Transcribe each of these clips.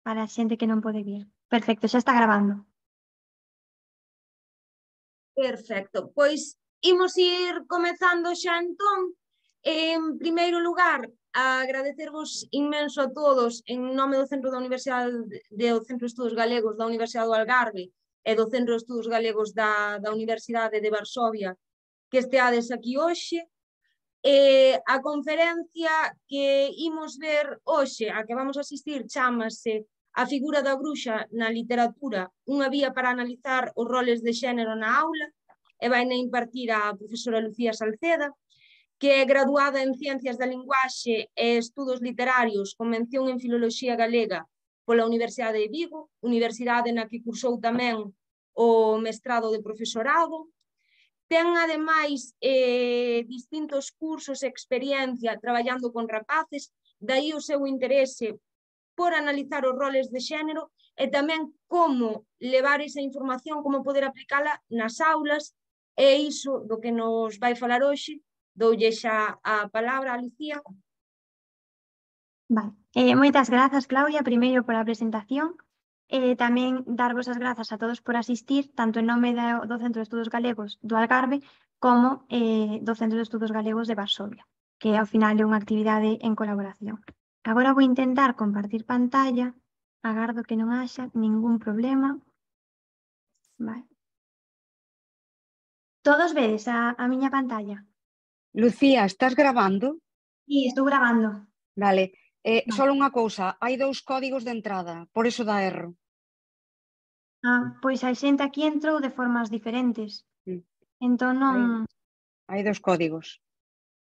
para a xente que non pode vir. Perfecto, xa está gravando. Perfecto, pois imos ir comezando xa entón. En primeiro lugar, agradecervos inmenso a todos en nome do Centro da Universidade do Centro de Estudos Galegos da Universidade do Algarve e do Centro de Estudos Galegos da Universidade de Varsovia que esteades aquí hoxe. A conferencia que imos ver hoxe, a que vamos asistir, chámase A figura da bruxa na literatura, unha vía para analizar os roles de xénero na aula, e vai na impartir a profesora Lucía Salceda, que é graduada en Ciencias da Linguaxe e Estudos Literarios con mención en Filoloxía Galega pola Universidade de Vigo, universidade na que cursou tamén o mestrado de profesorado. Ten, ademais, distintos cursos e experiencia traballando con rapaces, daí o seu interese por analizar os roles de xénero e tamén como levar esa información, como poder aplicala nas aulas, e iso do que nos vai falar hoxe. Doulle xa a palabra a Lucía. Vale. Moitas grazas, Claudia, primeiro pola presentación. Tamén darvos as grazas a todos por asistir, tanto en nome do Centro de Estudos Galegos do Algarve como do Centro de Estudos Galegos de Varsovia, que ao final é unha actividade en colaboración. Agora vou intentar compartir pantalla, agardo que non haxa ningún problema. Vale. Todos vedes a miña pantalla? Lucía, estás gravando? Sí, estou gravando. Vale. Vale. Só unha cousa, hai 2 códigos de entrada, por iso dá erro. Pois a xente aquí entrou de formas diferentes. Entón non... Hai 2 códigos.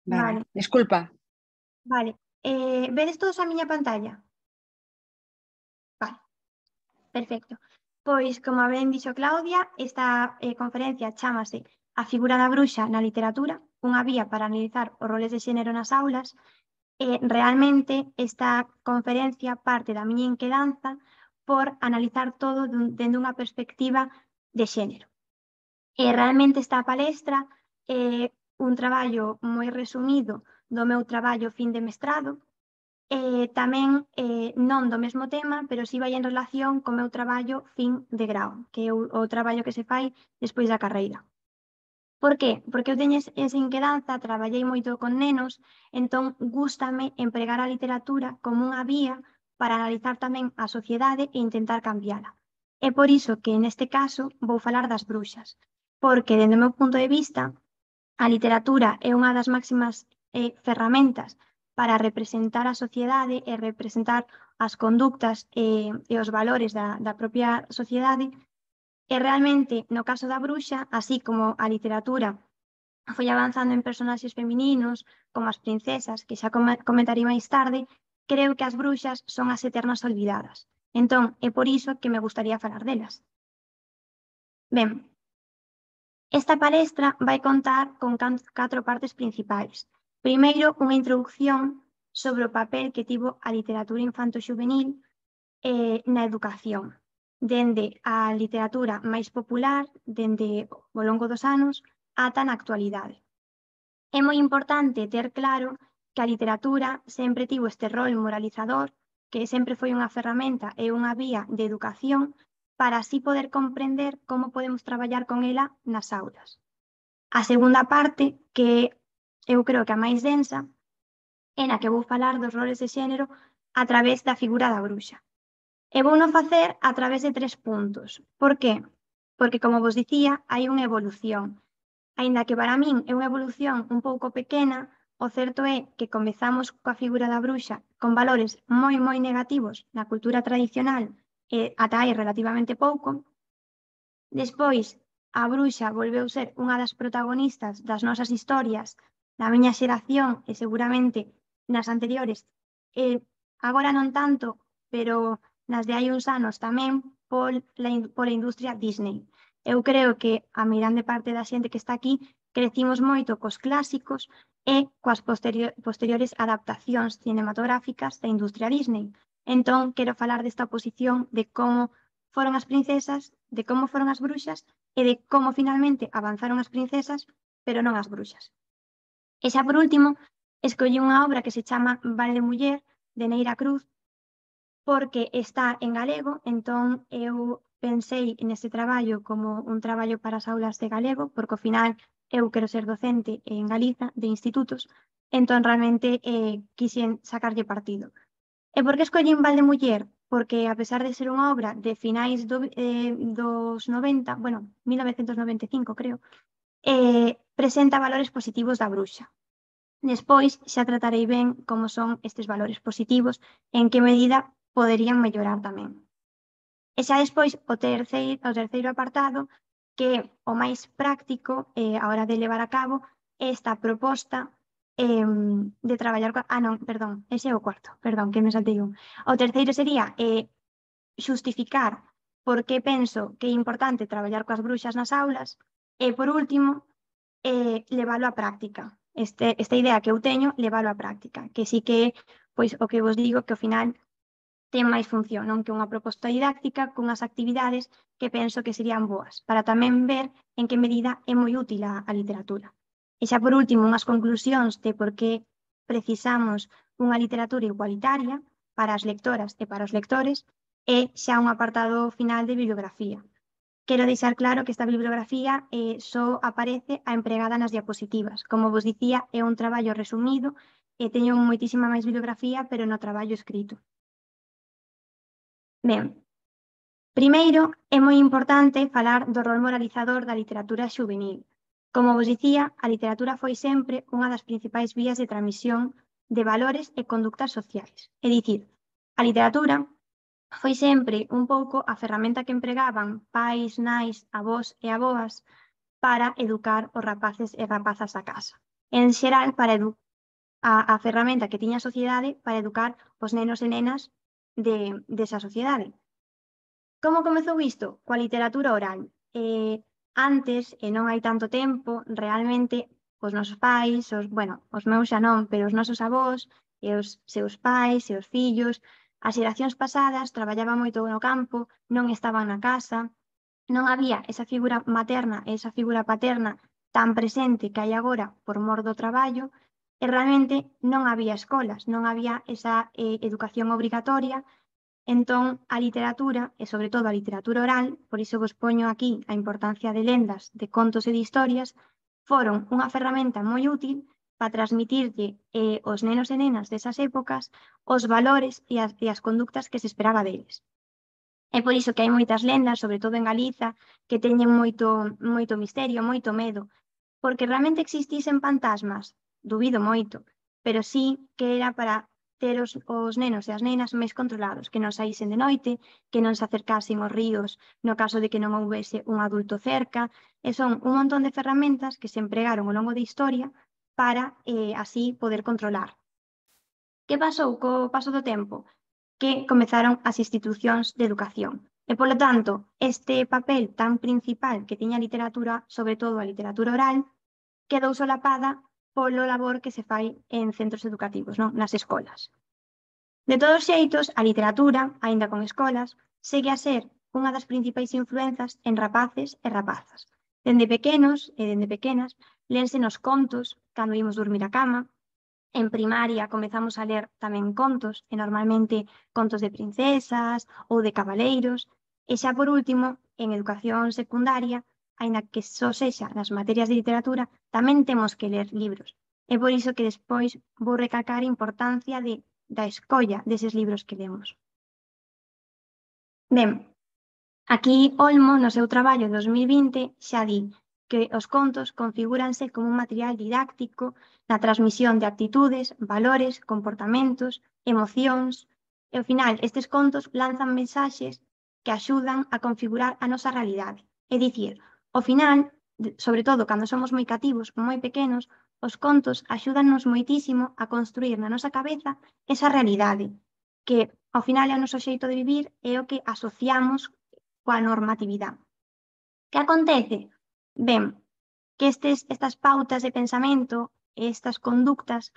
Vale. Desculpa. Vale. Vedes todos a miña pantalla? Vale. Perfecto. Pois, como ben dixo Claudia, esta conferencia chámase A figura da bruxa na literatura, unha vía para analizar os roles de xénero nas aulas. Realmente, esta conferencia parte da miña inquedanza por analizar todo dende unha perspectiva de xénero. Realmente esta palestra é un traballo moi resumido do meu traballo fin de mestrado, tamén non do mesmo tema, pero si vai en relación co meu traballo fin de grau, que é o traballo que se fai despois da carreira. Por qué? Porque eu teño esa inquedanza, traballei moito con nenos, entón gústame empregar a literatura como unha vía para analizar tamén a sociedade e intentar cambiala. É por iso que neste caso vou falar das bruxas, porque, dende o meu punto de vista, a literatura é unha das máximas ferramentas para representar a sociedade e representar as conductas e os valores da propia sociedade. E realmente, no caso da bruxa, así como a literatura foi avanzando en personaxes femininos, como as princesas, que xa comentarei máis tarde, creo que as bruxas son as eternas olvidadas. Entón, é por iso que me gustaría falar delas. Ben, esta palestra vai contar con 4 partes principais. Primeiro, unha introducción sobre o papel que tivo a literatura infanto-xuvenil na educación, dende a literatura máis popular, dende ao longo dos anos, ata na actualidade. É moi importante ter claro que a literatura sempre tivo este rol moralizador, que sempre foi unha ferramenta e unha vía de educación para así poder comprender como podemos traballar con ela nas aulas. A segunda parte, que eu creo que a máis densa, é na que vou falar dos roles de xénero a través da figura da bruxa. E vouno facer a través de 3 puntos. Por qué? Porque, como vos dicía, hai unha evolución. Aínda que para min é unha evolución un pouco pequena, o certo é que comezamos coa figura da bruxa con valores moi negativos na cultura tradicional e ata hai relativamente pouco. Despois, a bruxa volveu ser unha das protagonistas das nosas historias, da miña xeración e seguramente nas anteriores. Agora non tanto, pero nas de hai uns anos tamén pola industria Disney. Eu creo que a meirande parte da xente que está aquí crecimos moito cos clásicos e coas posteriores adaptacións cinematográficas da industria Disney. Entón, quero falar desta oposición de como foron as princesas, de como foron as bruxas e de como finalmente avanzaron as princesas, pero non as bruxas. E xa por último, escollí unha obra que se chama Val de Muller, de Neira Cruz, porque está en galego, entón eu pensei neste traballo como un traballo para as aulas de galego, porque ao final eu quero ser docente en Galiza de institutos, entón realmente quixen sacarlle partido. E por que escollín Valdemuller? Porque a pesar de ser unha obra de finais dos 90, bueno, 1995 creo, presenta valores positivos da bruxa. Despois xa tratarei ben como son estes valores positivos, en que medida poderían mellorar tamén. E xa despois o terceiro apartado, que é o máis práctico a hora de levar a cabo esta proposta de traballar non, perdón, ese é o cuarto, perdón, que me saltei un. O terceiro sería xustificar por que penso que é importante traballar coas bruxas nas aulas e, por último, leválo á práctica. Esta idea que eu teño, leválo á práctica, que sí que é pois, o que vos digo que ao final ten máis función, non? Que unha proposta didáctica cunhas actividades que penso que serían boas, para tamén ver en que medida é moi útil a literatura. E xa por último, unhas conclusións de por que precisamos unha literatura igualitaria para as lectoras e para os lectores e xa un apartado final de bibliografía. Quero deixar claro que esta bibliografía só aparece a empregada nas diapositivas. Como vos dicía, é un traballo resumido e teño moitísima máis bibliografía, pero no traballo escrito. Ben, primeiro, é moi importante falar do rol moralizador da literatura xuvenil. Como vos dicía, a literatura foi sempre unha das principais vías de transmisión de valores e conductas sociais. É dicir, a literatura foi sempre un pouco a ferramenta que empregaban pais, nais, avós e avoas para educar os rapaces e rapazas da casa. En xeral, para a ferramenta que tiña a sociedade para educar os nenos e nenas desa sociedade. Como comezou isto? Coa literatura oral. Antes, e non hai tanto tempo, realmente os nosos pais, os meus xa non, pero os nosos avós e os seus pais e os fillos, as xeracións pasadas traballaban moito no campo, non estaban na casa, non había esa figura materna e esa figura paterna tan presente que hai agora por mor do traballo, e realmente non había escolas, non había esa educación obrigatoria. Entón, a literatura, e sobre todo a literatura oral, por iso vos poño aquí a importancia de lendas, de contos e de historias, foron unha ferramenta moi útil para transmitirlle aos nenos e nenas desas épocas os valores e as conductas que se esperaba deles. É por iso que hai moitas lendas, sobre todo en Galiza, que teñen moito misterio, moito medo, porque realmente existisen fantasmas, dubido moito, pero sí que era para ter os nenos e as nenas máis controlados, que non saísen de noite, que non se acercasen aos ríos no caso de que non houbese un adulto cerca, e son un montón de ferramentas que se empregaron ao longo da historia para así poder controlar. Que pasou co paso do tempo? Que comezaron as institucións de educación. E, polo tanto, este papel tan principal que tiña a literatura, sobre todo a literatura oral, quedou solapada polo labor que se fai en centros educativos, non? Nas escolas. De todos xeitos, a literatura, aínda con escolas, segue a ser unha das principais influenzas en rapaces e rapazas. Dende pequenos e dende pequenas, lénse nos contos cando imos dormir á cama. En primaria comezamos a ler tamén contos, e normalmente contos de princesas ou de cabaleiros, e xa por último, en educación secundaria, aínda que só sexa nas materias de literatura, tamén temos que ler libros. É por iso que despois vou recalcar a importancia da escolla deses libros que lemos. Ben, aquí Olmo, no seu traballo 2020, xa di que os contos configúranse como un material didáctico na transmisión de actitudes, valores, comportamentos, emocións, e ao final estes contos lanzan mensaxes que axudan a configurar a nosa realidade. É dicir, ao final, sobre todo cando somos moi cativos, moi pequenos, os contos axúdannos moitísimo a construir na nosa cabeza esa realidade, que ao final é o noso xeito de vivir e o que asociamos coa normatividade. Que acontece? Ben, que estas pautas de pensamento e estas conductas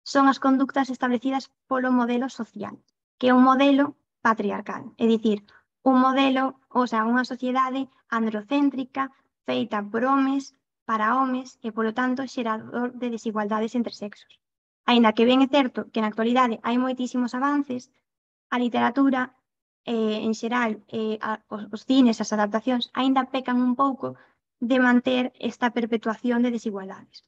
son as conductas establecidas polo modelo social, que é un modelo patriarcal, é dicir, un modelo, unha sociedade androcéntrica feita por homes, para homes e, polo tanto, xerador de desigualdades entre sexos. Aínda que ben é certo que na actualidade hai moitísimos avances, a literatura, en xeral, os cines, as adaptacións, aínda pecan un pouco de manter esta perpetuación de desigualdades.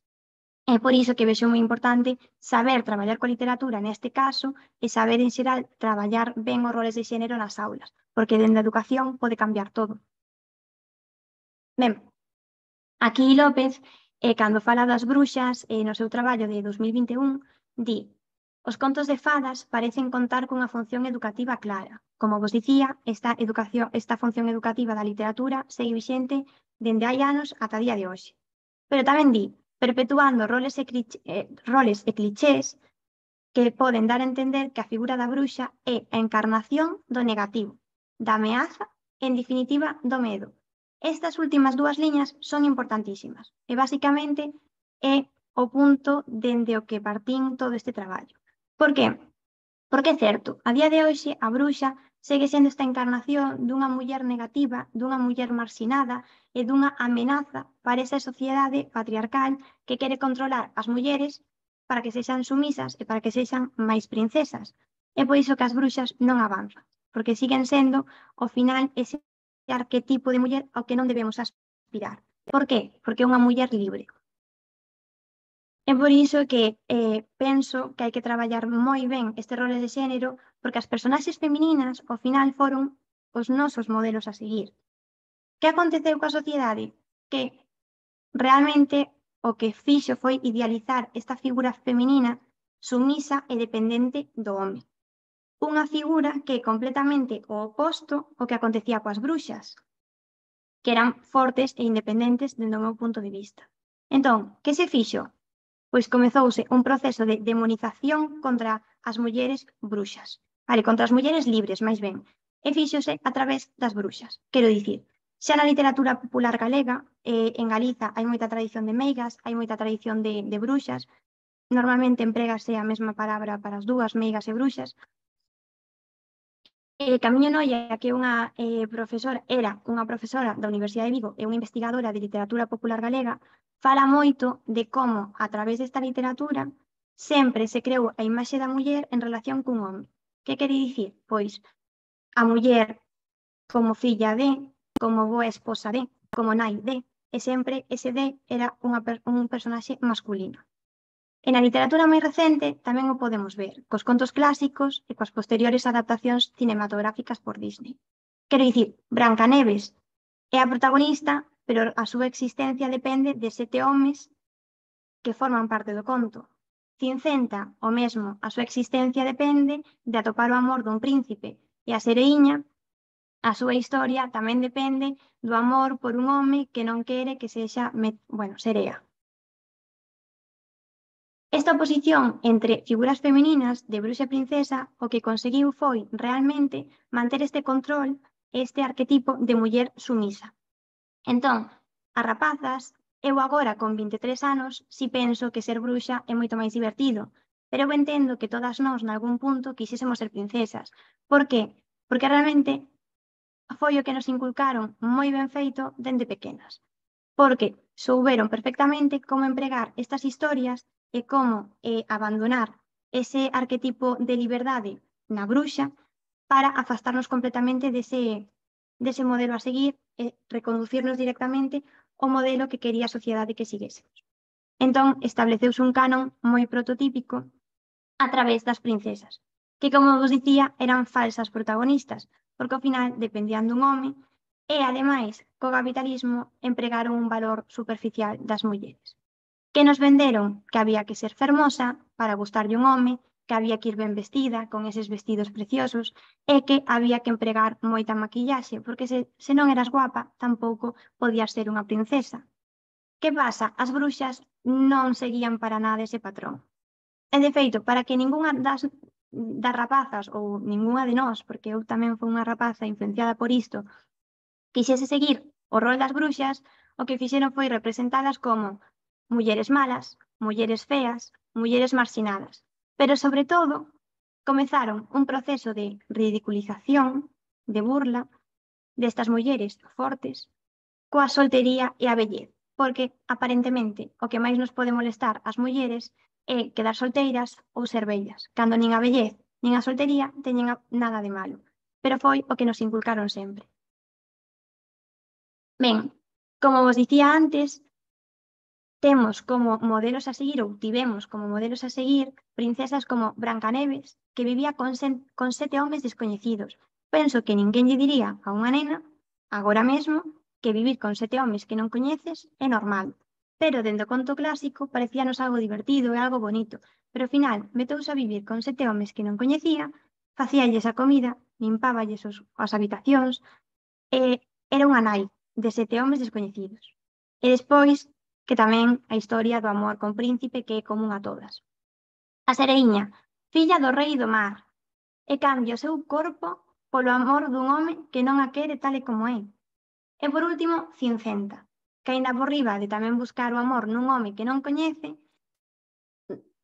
É por iso que vexo moi importante saber traballar coa literatura neste caso e saber, en xeral, traballar ben os roles de xénero nas aulas, porque dende a educación pode cambiar todo. Ben, aquí López, cando fala das bruxas no seu traballo de 2021, di: os contos de fadas parecen contar cunha función educativa clara. Como vos dicía, esta función educativa da literatura segue vixente dende hai anos ata día de hoxe. Pero tamén di: perpetuando roles e clichés que poden dar a entender que a figura da bruxa é a encarnación do negativo, da ameaza e, en definitiva, do medo. Estas últimas dúas liñas son importantísimas e, basicamente, é o punto dende o que partín todo este traballo. Por que? Porque é certo, a día de hoxe a bruxa segue sendo esta encarnación dunha muller negativa, dunha muller marxinada e dunha amenaza para esa sociedade patriarcal que quere controlar as mulleres para que sexan sumisas e para que sexan máis princesas. É por iso que as bruxas non avanzan, porque siguen sendo, ao final, ese arquetipo de muller ao que non debemos aspirar. Por qué? Porque é unha muller libre. É por iso que penso que hai que traballar moi ben estes roles de xénero, porque as personaxes femininas, ao final, foron os nosos modelos a seguir. Que aconteceu coa sociedade? Que realmente o que fixo foi idealizar esta figura feminina sumisa e dependente do home. Unha figura que é completamente o oposto ao que acontecía coas bruxas, que eran fortes e independentes dende o meu punto de vista. Entón, que se fixo? Pois comezouse un proceso de demonización contra as mulleres bruxas. Contra as mulleres libres, máis ben. E fíxose a través das bruxas. Quero dicir, xa na literatura popular galega, en Galiza hai moita tradición de meigas, hai moita tradición de bruxas. Normalmente emprégase a mesma palabra para as dúas, meigas e bruxas. Camiño Noia, que era unha profesora da Universidade de Vigo e unha investigadora de literatura popular galega, fala moito de como, a través desta literatura, sempre se creou a imaxe da muller en relación cun home. Que quere dicir? Pois a muller como filla de, como boa esposa de, como nai de, e sempre ese de era un personaxe masculino. E na literatura máis recente tamén o podemos ver, cos contos clásicos e coas posteriores adaptacións cinematográficas por Disney. Quero dicir, Brancaneves é a protagonista, pero a súa existencia depende de 7 homes que forman parte do conto. Cincenta, o mesmo, a súa existencia depende de atopar o amor dun príncipe, e a Sereiña, a súa historia tamén depende do amor por un home que non quere que sexa, serea. Esta oposición entre figuras femininas de bruxa e princesa o que conseguiu foi realmente manter este control, este arquetipo de muller sumisa. Entón, as rapazas, eu agora con 23 anos, si penso que ser bruxa é moito máis divertido, pero eu entendo que todas nós, nalgún punto, quixésemos ser princesas. Por qué? Porque realmente foi o que nos inculcaron moi ben feito dende pequenas. Porque souberon perfectamente como empregar estas historias e como abandonar ese arquetipo de liberdade na bruxa para afastarnos completamente dese modelo a seguir e reconducirnos directamente ao modelo que quería a sociedade que seguésemos. Entón, estableceuse un canon moi prototípico a través das princesas, que, como vos dicía, eran falsas protagonistas, porque ao final dependían dun home e, ademais, co capitalismo empregaron un valor superficial das mulleres. Que nos venderon que había que ser fermosa para gustarlle un home, que había que ir ben vestida, con eses vestidos preciosos, e que había que empregar moita maquillaxe, porque se non eras guapa, tampouco podías ser unha princesa. Que pasa? As bruxas non seguían para nada ese patrón. E, de feito, para que ningunha das rapazas, ou ningunha de nós, porque eu tamén fui unha rapaza influenciada por isto, quixese seguir o rol das bruxas, o que fixeron foi representadas como mulleres malas, mulleres feas, mulleres marxinadas. Pero, sobre todo, comezaron un proceso de ridiculización, de burla, destas mulleres fortes, coa soltería e a vellez. Porque, aparentemente, o que máis nos pode molestar ás mulleres é quedar solteiras ou ser vellas, cando nin a vellez, nin a soltería teñen nada de malo, pero foi o que nos inculcaron sempre. Ben, como vos dicía antes, temos como modelos a seguir, ou tivemos como modelos a seguir, princesas como Brancaneves, que vivía con 7 homes descoñecidos. Penso que ninguén lle diría a unha nena, agora mesmo, que vivir con 7 homes que non coñeces é normal. Pero dende o conto clásico parecíanos algo divertido e algo bonito, pero ao final metouse a vivir con 7 homes que non coñecía, facíalles a comida, limpáballes as habitacións, e era unha nai de 7 homes descoñecidos. E despois, que tamén a historia do amor con príncipe que é común a todas. A sereiña, filla do rei do mar, e cambia o seu corpo polo amor dun home que non a quere tal e como é. E por último, Cincenta, que aínda por riba de tamén buscar o amor nun home que non coñece,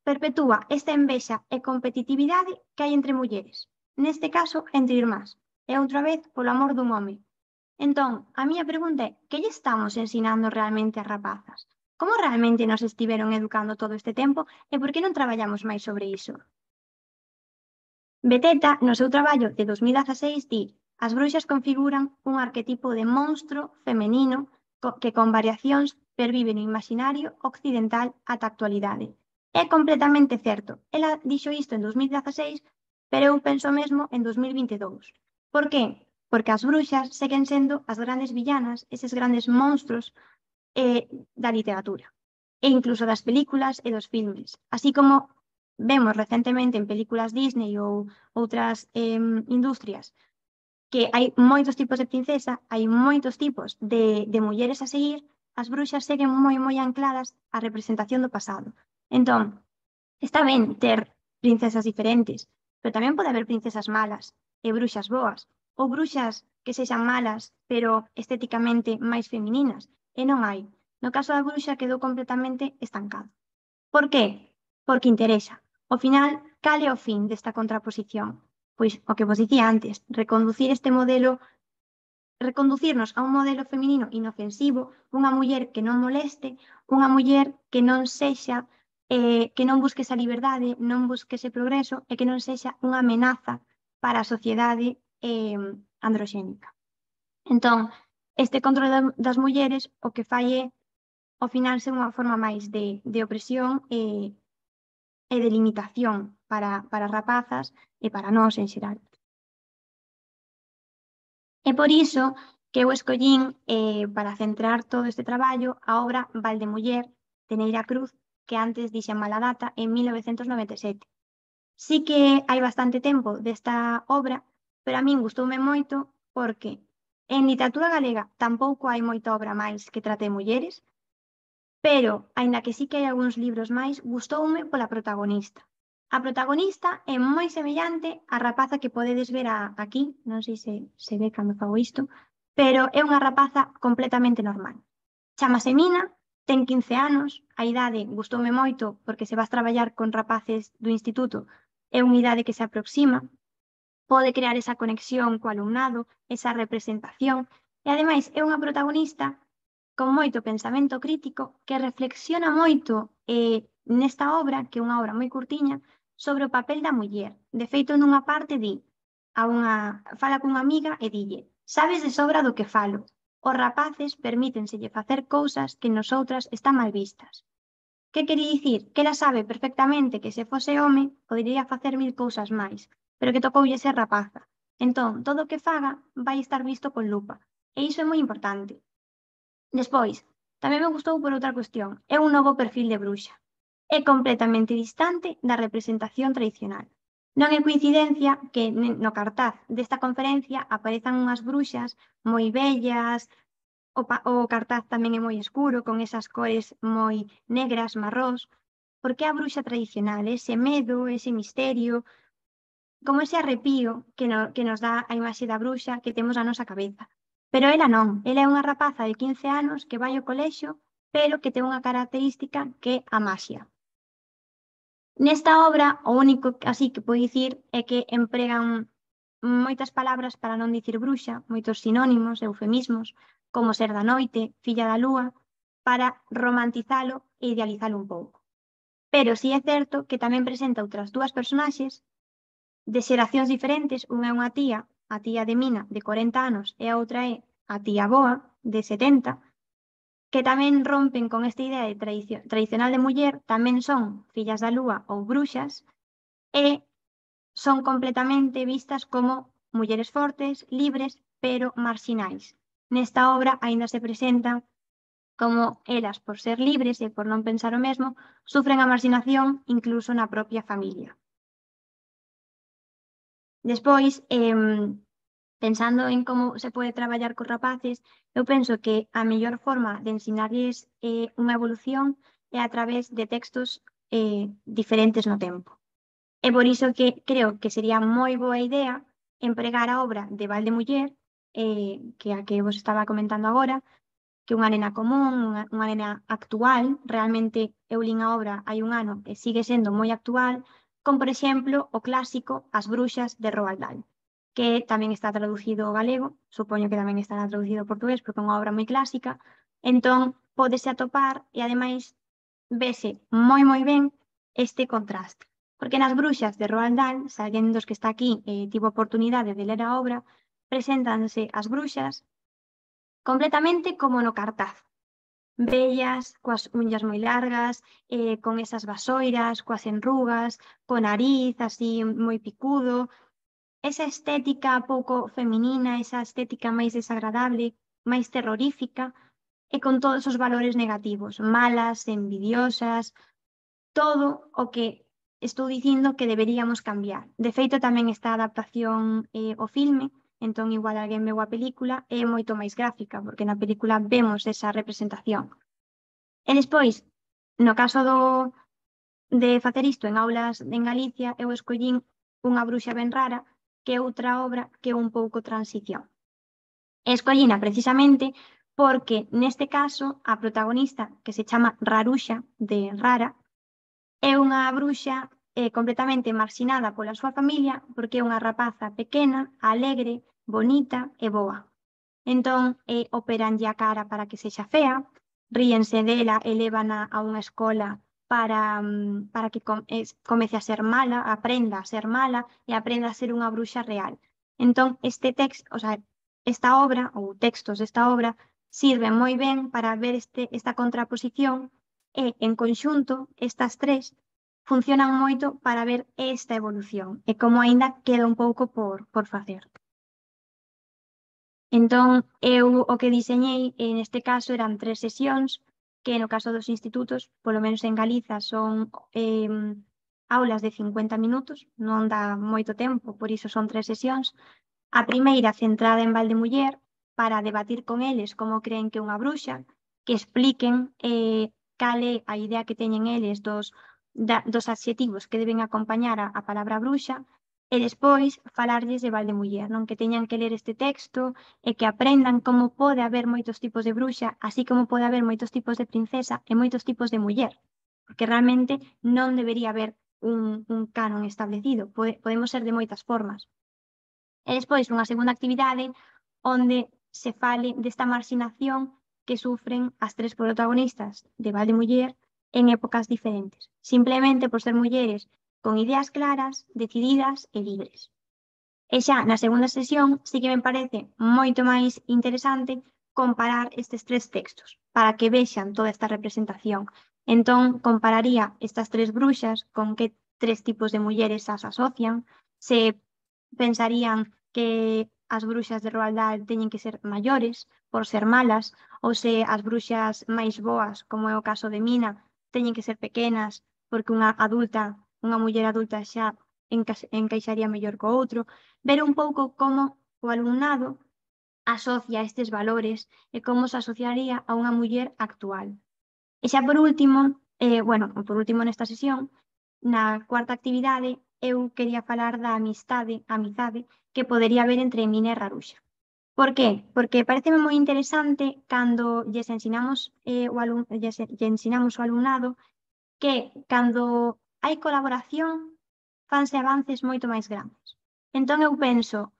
perpetúa esta envexa e competitividade que hai entre mulleres, neste caso entre irmás, e outra vez polo amor dun home. Entón, a miña pregunta é, que lle estamos ensinando realmente ás rapazas? Como realmente nos estiveron educando todo este tempo e por que non traballamos máis sobre iso? Beteta, no seu traballo de 2016, di: as bruxas configuran un arquetipo de monstro femenino que con variacións pervive no imaginario occidental ata a actualidade. É completamente certo. Ela dixo isto en 2016, pero eu penso mesmo en 2022. Por que? Porque as bruxas seguen sendo as grandes villanas, eses grandes monstros da literatura, e incluso das películas e dos filmes, así como vemos recentemente en películas Disney ou outras industrias que hai moitos tipos de princesa, hai moitos tipos de mulleres a seguir, as bruxas seguen moi ancladas á representación do pasado. Entón, está ben ter princesas diferentes, pero tamén pode haber princesas malas e bruxas boas, ou bruxas que sexan malas, pero estéticamente máis femininas, e non hai. No caso da bruxa quedou completamente estancado. Por qué? Porque interesa. Ao final, cal é o fin desta contraposición? Pois o que vos dicía antes, reconducirnos a un modelo feminino inofensivo, unha muller que non moleste, unha muller que non sexa, que non busque esa liberdade, non busque ese progreso e que non sexa unha amenaza para a sociedade androxénica. Entón, este control das mulleres o que fai é, ao final, ser unha forma máis de opresión e de limitación para as rapazas e para nós en xeral. É por iso que eu escollín para centrar todo este traballo a obra Valdemuller, de Neira Cruz, que antes dixen mala data, en 1997. Sí que hai bastante tempo desta obra, pero a min gustoume moito porque en literatura galega tampouco hai moita obra máis que trate de mulleres, pero, aínda que sí que hai algúns libros máis, gustoume pola protagonista. A protagonista é moi semellante á rapaza que podedes ver aquí, non sei se ve cando fago isto, pero é unha rapaza completamente normal. Chámase Mina, ten 15 anos, a idade gustoume moito porque se vas traballar con rapaces do instituto, é unha idade que se aproxima, pode crear esa conexión co alumnado, esa representación, e ademais é unha protagonista con moito pensamento crítico que reflexiona moito nesta obra, que é unha obra moi curtiña, sobre o papel da muller. De feito, nunha parte fala cunha amiga e dille: sabes de sobra do que falo. Os rapaces permítenselle facer cousas que nosoutras están mal vistas. Que quería dicir? Que ela sabe perfectamente que se fose home podería facer 1000 cousas máis, pero que tocoulle ser rapaza. Entón, todo o que faga vai estar visto con lupa. E iso é moi importante. Despois, tamén me gustou por outra cuestión. É un novo perfil de bruxa. É completamente distante da representación tradicional. Non é coincidencia que no cartaz desta conferencia aparezan unhas bruxas moi bellas, o cartaz tamén é moi escuro, con esas cores moi negras, marrós, porque é a bruxa tradicional, ese medo, ese misterio, como ese arrepío que nos dá a imaxe da bruxa que temos na nosa cabeza. Pero ela non, ela é unha rapaza de 15 anos que vai ao colexio, pero que ten unha característica que é a maxia. Nesta obra, o único así que podo dicir é que empregan moitas palabras para non dicir bruxa, moitos sinónimos, eufemismos, como ser da noite, filla da lúa, para romantizalo e idealizalo un pouco. Pero si é certo que tamén presenta outras dúas personaxes de xeracións diferentes, unha é unha tía, a tía de Mina, de 40 anos, e a outra é a tía Boa, de 70, que tamén rompen con esta idea de tradicional de muller, tamén son fillas da lúa ou bruxas, e son completamente vistas como mulleres fortes, libres, pero marxinais. Nesta obra aínda se presentan como elas, por ser libres e por non pensar o mesmo, sufren a marxinación incluso na propia familia. Despois, pensando en como se pode traballar cos rapaces, eu penso que a mellor forma de ensinarlles unha evolución é a través de textos diferentes no tempo. É por iso que creo que sería moi boa idea empregar a obra de Valdemuller, que a que vos estaba comentando agora, que é unha nena común, unha nena actual, realmente eu lin a obra hai un ano e sigue sendo moi actual, como por exemplo o clásico As bruxas de Roald Dahl, que tamén está traducido ao galego, supoño que tamén estará traducido ao portugués porque é unha obra moi clásica, entón pódese atopar e ademais vese moi ben este contraste. Porque nas bruxas de Roald Dahl, se alguén dos que está aquí tivo oportunidade de ler a obra, preséntanse as bruxas completamente como no cartaz. Vellas, coas unhas moi largas, con esas vasoiras, coas enrugas, co nariz así moi picudo, esa estética pouco feminina, esa estética máis desagradable, máis terrorífica, e con todos os valores negativos, malas, envidiosas, todo o que estou dicindo que deberíamos cambiar. De feito, tamén esta adaptación ao filme, entón igual alguén veu a película, é moito máis gráfica, porque na película vemos esa representación. E despois, no caso de facer isto en aulas en Galicia, eu escollín Unha bruxa ben rara, que é outra obra que é un pouco transición. E escollina precisamente porque, neste caso, a protagonista, que se chama Raruxa, de Rara, é unha bruxa completamente marxinada pola súa familia porque é unha rapaza pequena, alegre, bonita e boa. Entón, operanlle a cara para que sexa fea, ríense dela e lévana a unha escola para que comece a ser mala, aprenda a ser mala e aprenda a ser unha bruxa real. Entón, esta obra, ou textos desta obra, sirven moi ben para ver esta contraposición e, en conxunto, estas tres funcionan moito para ver esta evolución e como aínda queda un pouco por facer. Entón, eu o que diseñei neste caso eran 3 sesións, que no caso dos institutos, polo menos en Galiza, son aulas de 50 minutos, non dá moito tempo, por iso son 3 sesións. A primeira centrada en Valdemuller, para debatir con eles como creen que é unha bruxa, que expliquen cal é a idea que teñen eles dos adxetivos que deben acompañar a palabra bruxa, e despois falarlles de Valdemuller, non? Que teñan que ler este texto e que aprendan como pode haber moitos tipos de bruxa, así como pode haber moitos tipos de princesa e moitos tipos de muller, porque realmente non debería haber un canon establecido, podemos ser de moitas formas. E despois unha segunda actividade onde se fale desta marxinación que sufren as tres protagonistas de Valdemuller en épocas diferentes, simplemente por ser mulleres con ideas claras, decididas e libres. E xa na segunda sesión sí que me parece moito máis interesante comparar estes tres textos para que vexan toda esta representación. Entón, compararía estas tres bruxas con que tres tipos de mulleres as asocian, se pensarían que as bruxas de Roald Dahl teñen que ser maiores por ser malas, ou se as bruxas máis boas, como é o caso de Mina, teñen que ser pequenas porque unha muller adulta xa encaixaría mellor co outro, ver un pouco como o alumnado asocia estes valores e como se asociaría a unha muller actual. E xa por último nesta sesión, na cuarta actividade, eu quería falar da amizade que podería haber entre Mina e Raruxa. Por qué? Porque pareceme moi interesante cando lles ensinamos o alumnado que cando hai colaboración fanse avances moito máis grandes. Entón eu penso,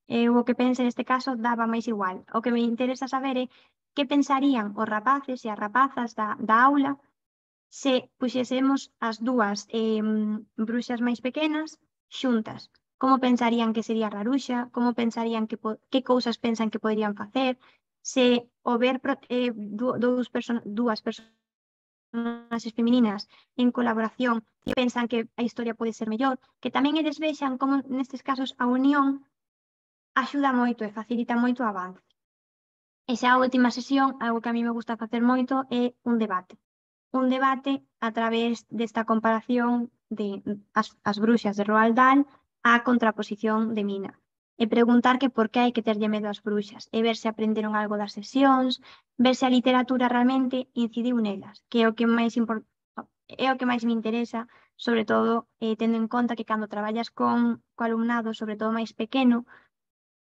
eu o que pense neste caso daba máis igual. O que me interesa saber é que pensarían os rapaces e as rapazas da aula se puxésemos as dúas bruxas máis pequenas xuntas. Como pensarían que sería Raruxa, como pensarían que cousas pensan que poderían facer, se o ver dúas personaxes femininas en colaboración pensan que a historia pode ser mellor, que tamén eles vexan como nestes casos a unión axuda moito e facilita moito o avance. E xa a última sesión, algo que a mí me gusta facer moito é un debate. Un debate a través desta comparación de as bruxas de Roald Dahl á contraposición de Mina. E preguntar que por que hai que terlle medo ás bruxas e ver se aprenderon algo das sesións, ver se a literatura realmente incidiu nelas, que é o que máis me interesa, sobre todo tendo en conta que cando traballas co alumnado, sobre todo máis pequeno,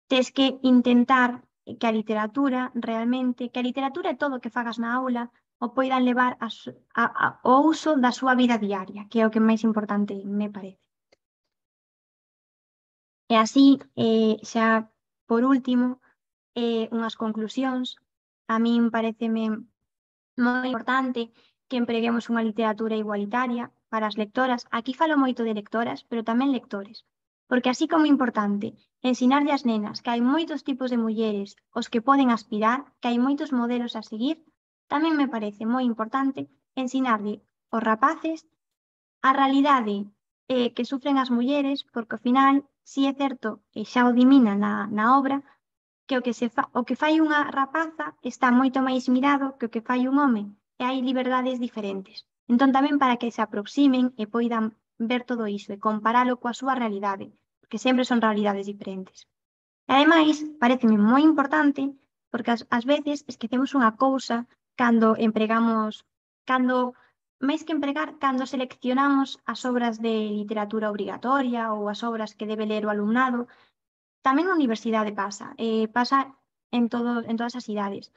tes que intentar que a literatura realmente, que a literatura e todo o que fagas na aula o poidan levar ao uso da súa vida diaria, que é o que máis importante me parece. E así, xa por último, unhas conclusións. A min pareceme moi importante que empreguemos unha literatura igualitaria para as lectoras. Aquí falo moito de lectoras, pero tamén lectores. Porque así como é importante ensinarlle ás nenas que hai moitos tipos de mulleres os que poden aspirar, que hai moitos modelos a seguir, tamén me parece moi importante ensinarlle aos rapaces a realidade que sufren as mulleres, porque ao final, si é certo, e xa o dimina na obra, que o que fai unha rapaza está moito máis mirado que o que fai un home, e hai liberdades diferentes. Entón tamén para que se aproximen e poidan ver todo iso e comparalo coa súa realidade, porque sempre son realidades diferentes. E ademais, pareceme moi importante, porque ás veces esquecemos unha cousa cando máis que empregar, cando seleccionamos as obras de literatura obrigatoria ou as obras que debe ler o alumnado, tamén na universidade pasa en todas as idades.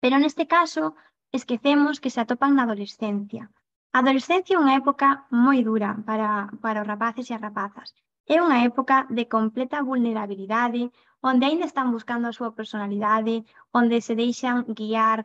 Pero neste caso, esquecemos que se atopan na adolescencia. A adolescencia é unha época moi dura para os rapaces e as rapazas. É unha época de completa vulnerabilidade, onde aínda están buscando a súa personalidade, onde se deixan guiar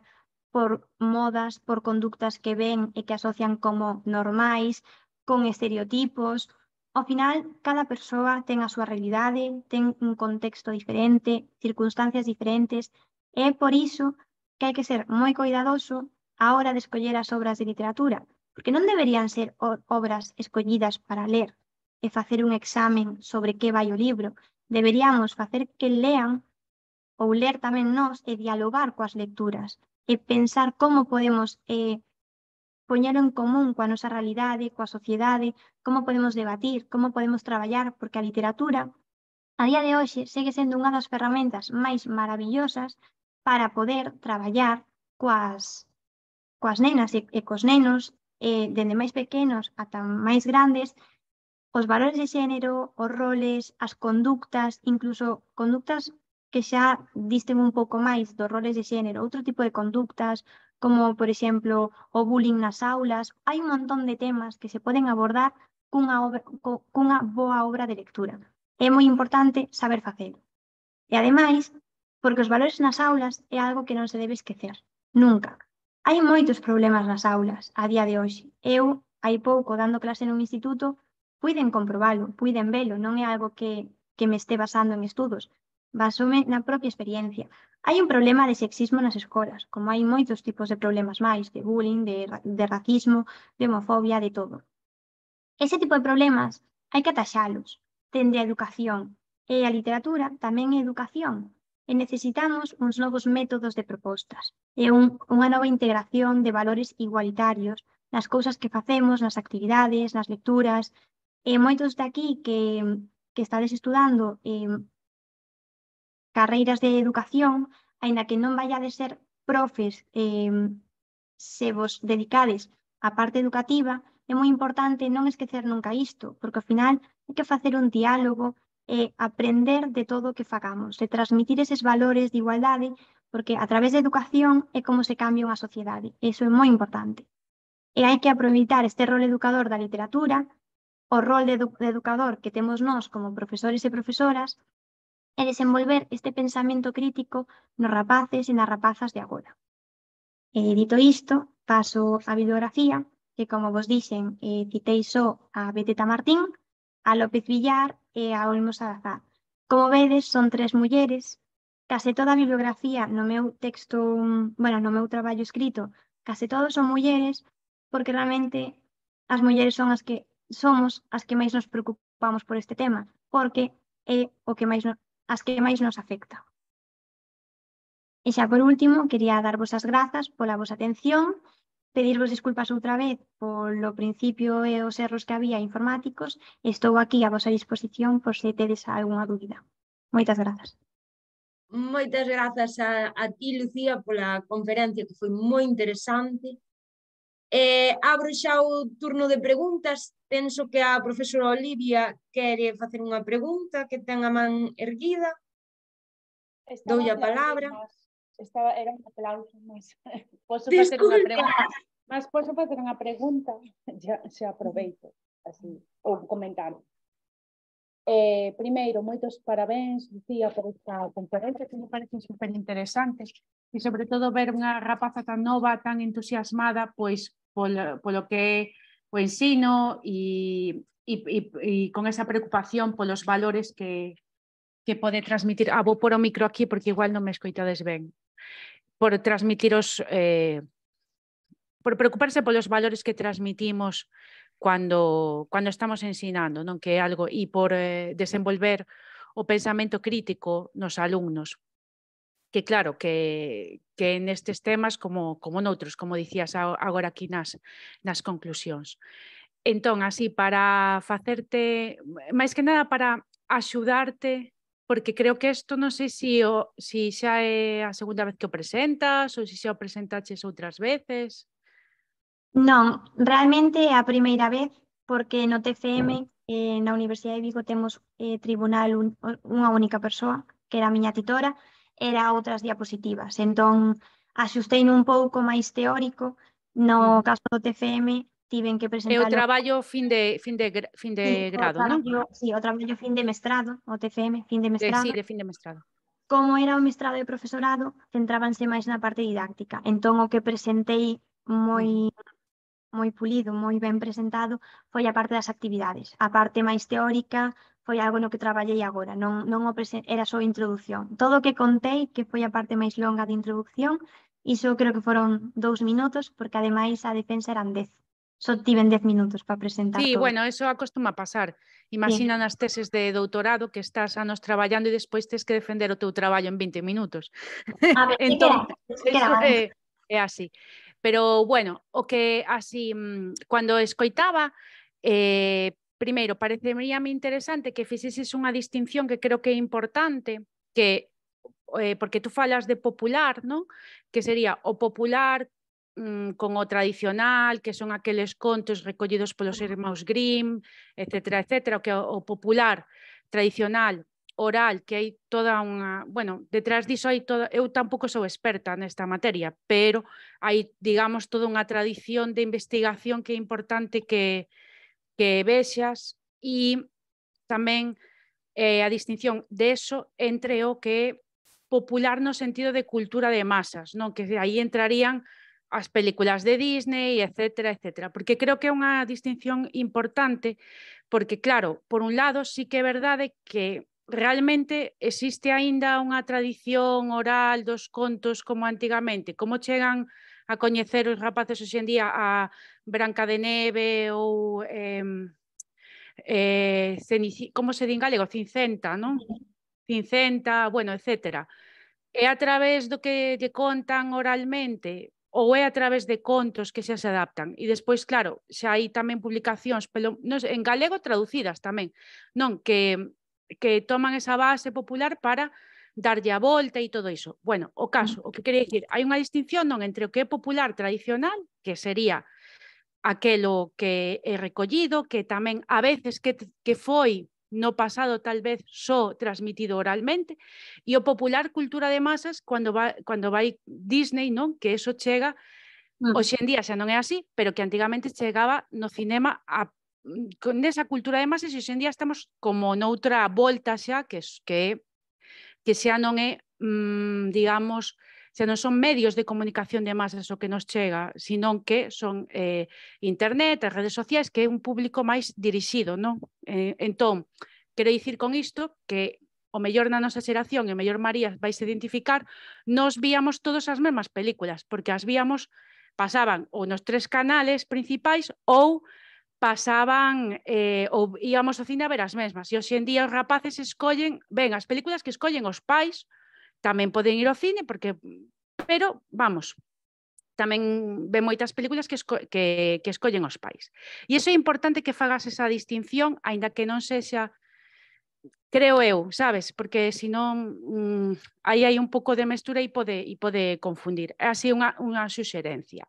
por modas, por conductas que ven e que asocian como normais, con estereotipos. Ao final, cada persoa ten a súa realidade, ten un contexto diferente, circunstancias diferentes, e é por iso que hai que ser moi coidadoso á hora de escoller as obras de literatura, porque non deberían ser obras escollidas para ler e facer un examen sobre que vai o libro. Deberíamos facer que lean ou ler tamén nós e dialogar coas lecturas e pensar como podemos poñelo en común coa nosa realidade, coa sociedade, como podemos debatir, como podemos traballar, porque a literatura a día de hoxe segue sendo unha das ferramentas máis maravillosas para poder traballar coas nenas e cos nenos, dende máis pequenos ata máis grandes, os valores de xénero, os roles, as conductas, incluso conductas que xa disten un pouco máis dos roles de xénero, outro tipo de conductas, como, por exemplo, o bullying nas aulas. Hai un montón de temas que se poden abordar cunha boa obra de lectura. É moi importante saber facelo. E ademais, porque os valores nas aulas é algo que non se debe esquecer, nunca. Hai moitos problemas nas aulas a día de hoxe. Eu, hai pouco, dando clase nun instituto, puiden comprobalo, puiden velo, non é algo que me este basando en estudos, basome na propia experiencia. Hai un problema de sexismo nas escolas, como hai moitos tipos de problemas máis, de bullying, de racismo, de homofobia, de todo. Ese tipo de problemas hai que ataxalos, dende a educación, e a literatura tamén é educación, e necesitamos uns novos métodos de propostas, e unha nova integración de valores igualitarios nas cousas que facemos, nas actividades, nas lecturas, e moitos de aquí que estades estudando carreiras de educación, aínda que non vaiades ser profes, se vos dedicades á parte educativa, é moi importante non esquecer nunca isto, porque ao final hai que facer un diálogo e aprender de todo o que fagamos, de transmitir eses valores de igualdade, porque a través da educación é como se cambia unha sociedade, e iso é moi importante. E hai que aproveitar este rol educador da literatura, o rol de educador que temos nós como profesores e profesoras, e desenvolver este pensamento crítico nos rapaces e nas rapazas de agora. E dito isto, paso a bibliografía, que como vos dixen, citei só a Beteta Martín, a López Villar e a Olmos Salazar. Como vedes, son 3 mulleres. Case toda a bibliografía no meu texto, no meu traballo escrito, case todos son mulleres, porque realmente as mulleres son somos as que máis nos preocupamos por este tema, porque é o que as que máis nos afecta. E xa por último, quería darvos as grazas pola vosa atención, pedirvos disculpas outra vez polo principio e os erros que había informáticos, e estou aquí a vosa disposición por se tedes algunha dúbida. Moitas grazas. Moitas grazas a ti, Lucía, pola conferencia, que foi moi interesante. Abro xa o turno de preguntas. Penso que a profesora Olivia quere facer unha pregunta, que ten a man erguida. Doulle a palabra. Era un aplauso, mas posso facer unha pregunta. Mas posso facer unha pregunta, xa aproveito, así, ou un comentario. Primeiro, moitos parabéns, Lucía, por esta conferencia que me parece super interesante e sobre todo ver unha rapaza tan nova, tan entusiasmada, pois polo que é o ensino e con esa preocupación polos valores que pode transmitir. Vou pôr o micro aquí porque igual non me escoitades ben. Por transmitiros, por preocuparse polos valores que transmitimos cando estamos ensinando, non, que é algo, e por desenvolver o pensamento crítico nos alumnos, que claro, que nestes temas como noutros, como dicías agora aquí nas conclusións. Entón, así, para facerte, máis que nada para axudarte, porque creo que isto non sei se xa é a segunda vez que o presentas ou se xa o presentaches outras veces. Non, realmente é a primeira vez, porque no TFM, na Universidade de Vigo, temos tribunal unha única persoa, que era a miña titora, era outras diapositivas. Entón, axustei un pouco máis teórico. No caso do TFM, tiven que É o presentar traballo fin de grado, non? Sí, o traballo fin de mestrado, o TFM, fin de mestrado. Sí, de fin de mestrado. Como era o mestrado de profesorado, centrábanse máis na parte didáctica. Entón, o que presentei moi pulido, moi ben presentado, foi a parte das actividades. A parte máis teórica foi algo no que traballei agora, non era só introducción. Todo o que contei, que foi a parte máis longa de introducción, iso creo que foron 2 minutos, porque ademais a defensa eran 10. Só tiven 10 minutos para presentar Sí, todo. bueno, eso acostuma pasar. Imagina nas teses de doutorado que estás anos traballando e despois tes que defender o teu traballo en 20 minutos. Entón, eso é así. Pero, bueno, o que así, cando escoitaba, primeiro, pareceríame interesante que fixeses unha distinción que creo que é importante, que porque tú falas de popular, non? Que sería o popular con o tradicional, que son aqueles contos recollidos polos irmáns Grimm, etcétera, etcétera, que o popular tradicional oral, que hai toda unha, bueno, detrás diso hai toda, eu tampouco sou experta nesta materia, pero hai, digamos, toda unha tradición de investigación que é importante que vexas, e tamén a distinción de eso entre o que é popular no sentido de cultura de masas, non? Que aí entrarían as películas de Disney, etcétera, etcétera. Porque creo que é unha distinción importante, porque claro, por un lado sí que é verdade que realmente existe aínda unha tradición oral dos contos como antigamente. Como chegan a coñecer os rapaces hoxe en día a Branca de Neve ou como se di en galego? Cincenta, non? Cincenta, bueno, etcétera. É a través do que lle contan oralmente ou é a través de contos que xa se adaptan? E despois, claro, xa hai tamén publicacións en galego traducidas tamén, non? Que toman esa base popular para darlle a volta e todo iso. Bueno, o caso, o que quería dicir, hai unha distinción non entre o que é popular tradicional, que sería aquelo que é recollido, que tamén a veces que foi no pasado tal vez só transmitido oralmente, e o popular cultura de masas cando vai Disney, non? Que eso chega, hoxe en día xa non é así, pero que antigamente chegaba no cinema con esa cultura de masas, e hoxe en día estamos como noutra volta xa, que xa non é, digamos, xa non son medios de comunicación de masas o que nos chega, sino que son internet, as redes sociais, que é un público máis dirixido, non? Entón, quero dicir con isto que o mellor na nosa xeración, e o mellor María vais identificar, nos víamos todas as mesmas películas, porque as víamos, pasaban ou nos 3 canales principais ou pasaban ou íamos ao cine a ver as mesmas. E hoxe en día os rapaces escollen, ben, as películas que escollen os pais, tamén poden ir ao cine, pero, vamos, tamén ven moitas películas que escollen os pais. E iso é importante que fagas esa distinción, aínda que non sexa, creo eu, sabes? Porque senón aí hai un pouco de mestura e pode confundir. É así unha suxerencia.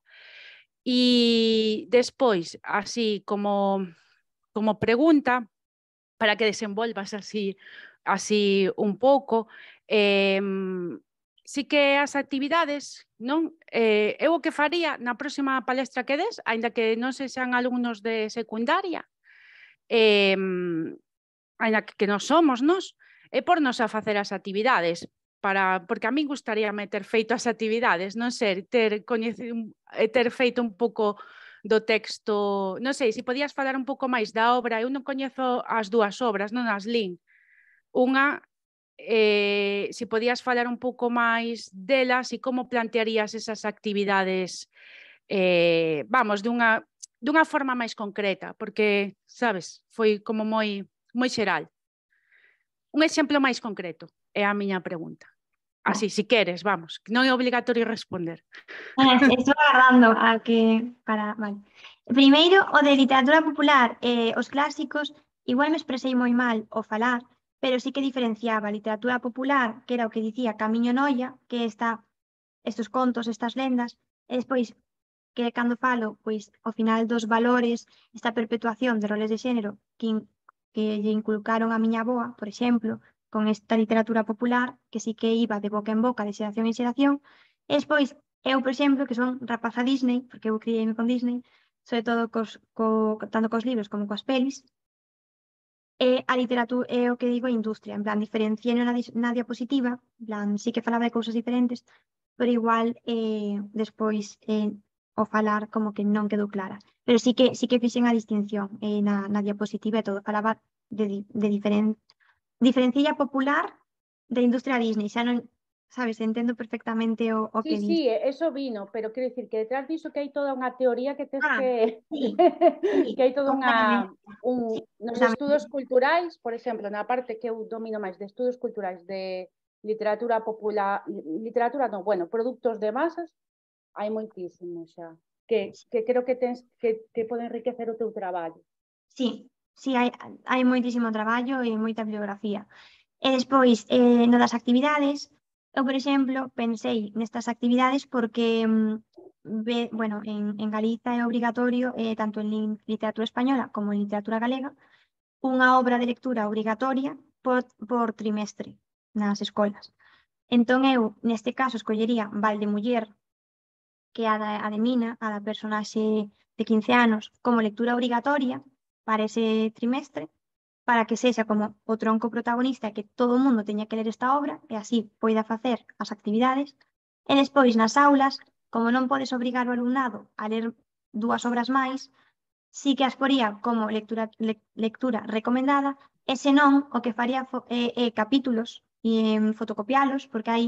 E despois, así como pregunta, para que desenvolvas así un pouco, sí que as actividades, non? Eu o que faría na próxima palestra que des, aínda que non sexan alumnos de secundaria, aínda que non somos nós, é pornos a facer as actividades, porque a min gustaríame ter feito as actividades, non ser, ter feito un pouco do texto, non sei, se podías falar un pouco máis da obra, eu non coñezo as dúas obras, non as lin. Unha, se podías falar un pouco máis delas e como plantearías esas actividades, vamos, dunha forma máis concreta, porque, sabes, foi como moi xeral. Un exemplo máis concreto é a miña pregunta. Así, si queres, vamos, non é obligatorio responder. Estou agardando a que... Vale. Primeiro, o de literatura popular, os clásicos, igual me expresei moi mal ao falar, pero sí que diferenciaba a literatura popular, que era o que dicía Camiño Noia, que estes contos, estas lendas, e despois, que cando falo, pois, ao final dos valores, esta perpetuación de roles de xénero que lle inculcaron a miña avoa, por exemplo, con esta literatura popular, que sí que iba de boca en boca, de xeración en xeración, e despois, eu, por exemplo, que son rapaza Disney, porque eu criei-me con Disney, sobre todo tanto cos libros como coas pelis, e a literatura é o que digo a industria, en plan, diferenciei na diapositiva, en plan, sí que falaba de cousas diferentes, pero igual despois ao falar como que non quedou clara. Pero sí que fixen a distinción na diapositiva e todo, falaba de diferencia popular da industria Disney, xa non, sabes, entendo perfectamente o que Sí, dis. eso vino, pero quero dicir que detrás diso que hai toda unha teoría que tes Sí, que hai toda nos completamente. estudos culturais, por exemplo, na parte que eu domino máis de estudos culturais de literatura popular, produtos de masas, hai moitísimo xa, que creo que tens que pode enriquecer o teu traballo. Sí, hai moitísimo traballo e moita bibliografía. E despois, no das actividades, eu, por exemplo, pensei nestas actividades porque, en Galiza é obrigatorio, tanto en literatura española como en literatura galega, unha obra de lectura obrigatoria por trimestre nas escolas. Entón, eu, neste caso, escollería Valdemuller, que é a de Mina, a da personaxe de 15 anos, como lectura obrigatoria para ese trimestre, para que sexa como o tronco protagonista e que todo o mundo teña que ler esta obra e así poida facer as actividades. E despois nas aulas, como non podes obrigar o alumnado a ler 2 obras máis, sí que as poría como lectura recomendada e senón o que faría capítulos e fotocopialos, porque hai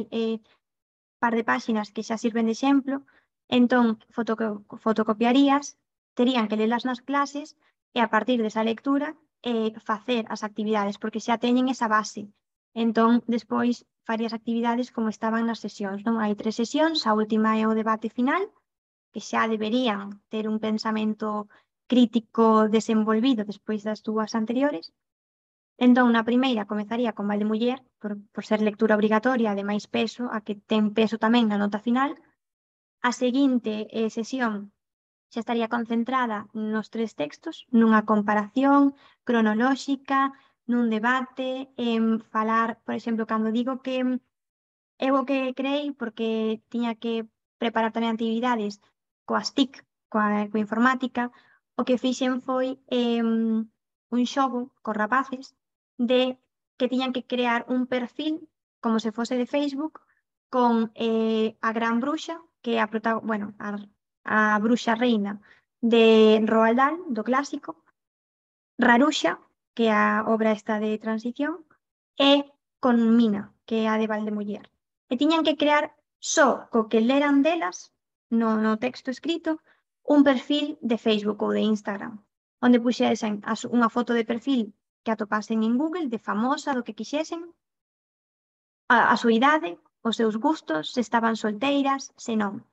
par de páxinas que xa sirven de exemplo, entón fotocopiarías, terían que lelas nas clases e a partir desa lectura facer as actividades, porque xa teñen esa base. Entón, despois farías actividades como estaban nas sesións, non? Hai 3 sesións, a última é o debate final, que xa deberían ter un pensamento crítico desenvolvido despois das 2 anteriores. Entón, na primeira comezaría con Valdemuller, por ser lectura obrigatoria de máis peso, a que ten peso tamén na nota final. A seguinte sesión xa estaría concentrada nos 3 textos, nunha comparación cronolóxica, nun debate, en falar, por exemplo, cando digo que eu o que creei, porque tiña que preparar tamén actividades coas TIC, coa informática, o que fixen foi un xogo cos rapaces de que tiñan que crear un perfil como se fose de Facebook con a Gran Bruxa, que é a bruxa reina de Roald Dahl, do clásico, Raruxa, que é a obra esta de transición, e con Mina, que é a de Valdemuller. E tiñan que crear só co que leran delas, no texto escrito, un perfil de Facebook ou de Instagram, onde puxesen unha foto de perfil que atopasen en Google, de famosa, do que quixesen, a súa idade, os seus gustos, se estaban solteiras, se non.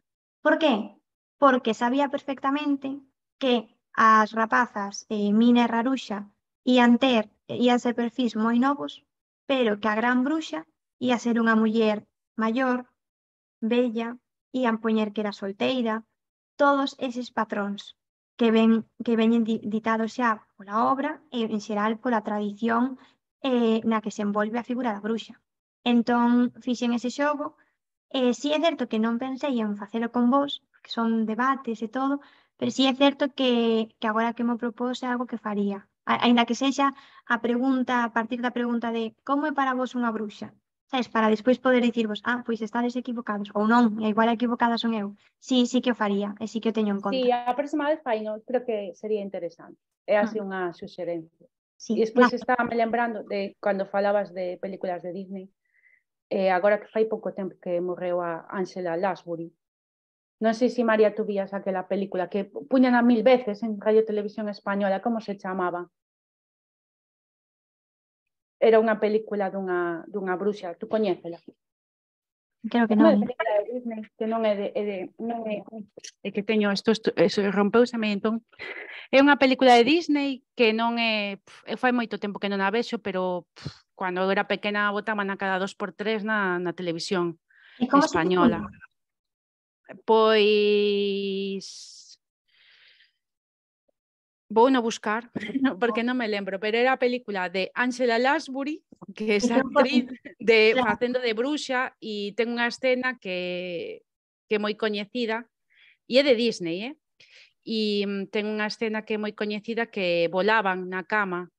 Por qué? Porque sabía perfectamente que as rapazas Mina e Raruxa ían ser perfis moi novos, pero que a Gran Bruxa ia ser unha muller maior, bella, ían poñer que era solteira, todos eses patróns que veñen ditados xa pola obra e, en xeral, pola tradición na que se envolve a figura da bruxa. Entón, fixen ese xogo. Si é certo que non pensei en facelo con vos, que son debates e todo, pero si é certo que agora que me propós é algo que faría. Aínda que sexa a partir da pregunta de como é para vos unha bruxa? Sabes, para despois poder dicirvos, pois estades equivocados, ou non, e igual equivocada son eu. Sí que o faría, e sí que o teño en conta. Sí, a próxima vez faino, creo que sería interesante. É así unha suxerencia. Sí, E despois estaba me lembrando de cando falabas de películas de Disney, agora que fai pouco tempo que morreu a Angela Lansbury. Non sei se, María, tú vías aquela película que puñan a 1000 veces en Radio Televisión Española, como se chamaba? Era unha película dunha bruxa, tú coñécela? Creo que non. Unha película de Disney que non é que teño isto rompeuseme, entón. É unha película de Disney que non é, fai moito tempo que non a vexo, pero cando era pequena botaban a cada 2x3 na televisión española. Pois vou no buscar, porque non me lembro, pero era a película de Angela Lansbury, que é esa actriz facendo de bruxa, e ten unha escena que é moi coñecida, e é de Disney, e ten unha escena que é moi coñecida que volaban na cama,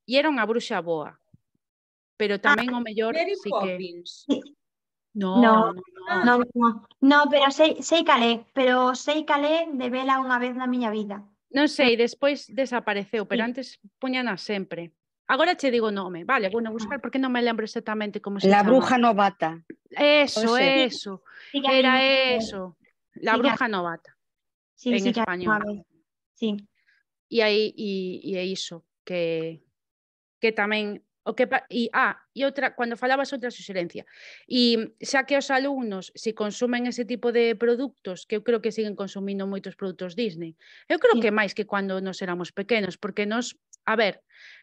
e era unha bruxa boa, pero tamén o mellor sí que... No, pero sei calé, de vela unha vez na miña vida. Non sei, despois desapareceu, pero antes puñana sempre. Agora che digo o nome, vale, vou buscar porque non me lembro exactamente como se chama. La bruja novata. Eso. Era eso. La bruja novata. En español. Sí. E aí é iso que tamén e outra, cando falabas outra suxerencia, e xa que os alumnos se consumen ese tipo de produtos, que eu creo que siguen consumindo moitos produtos Disney, eu creo que máis que cando nos éramos pequenos, porque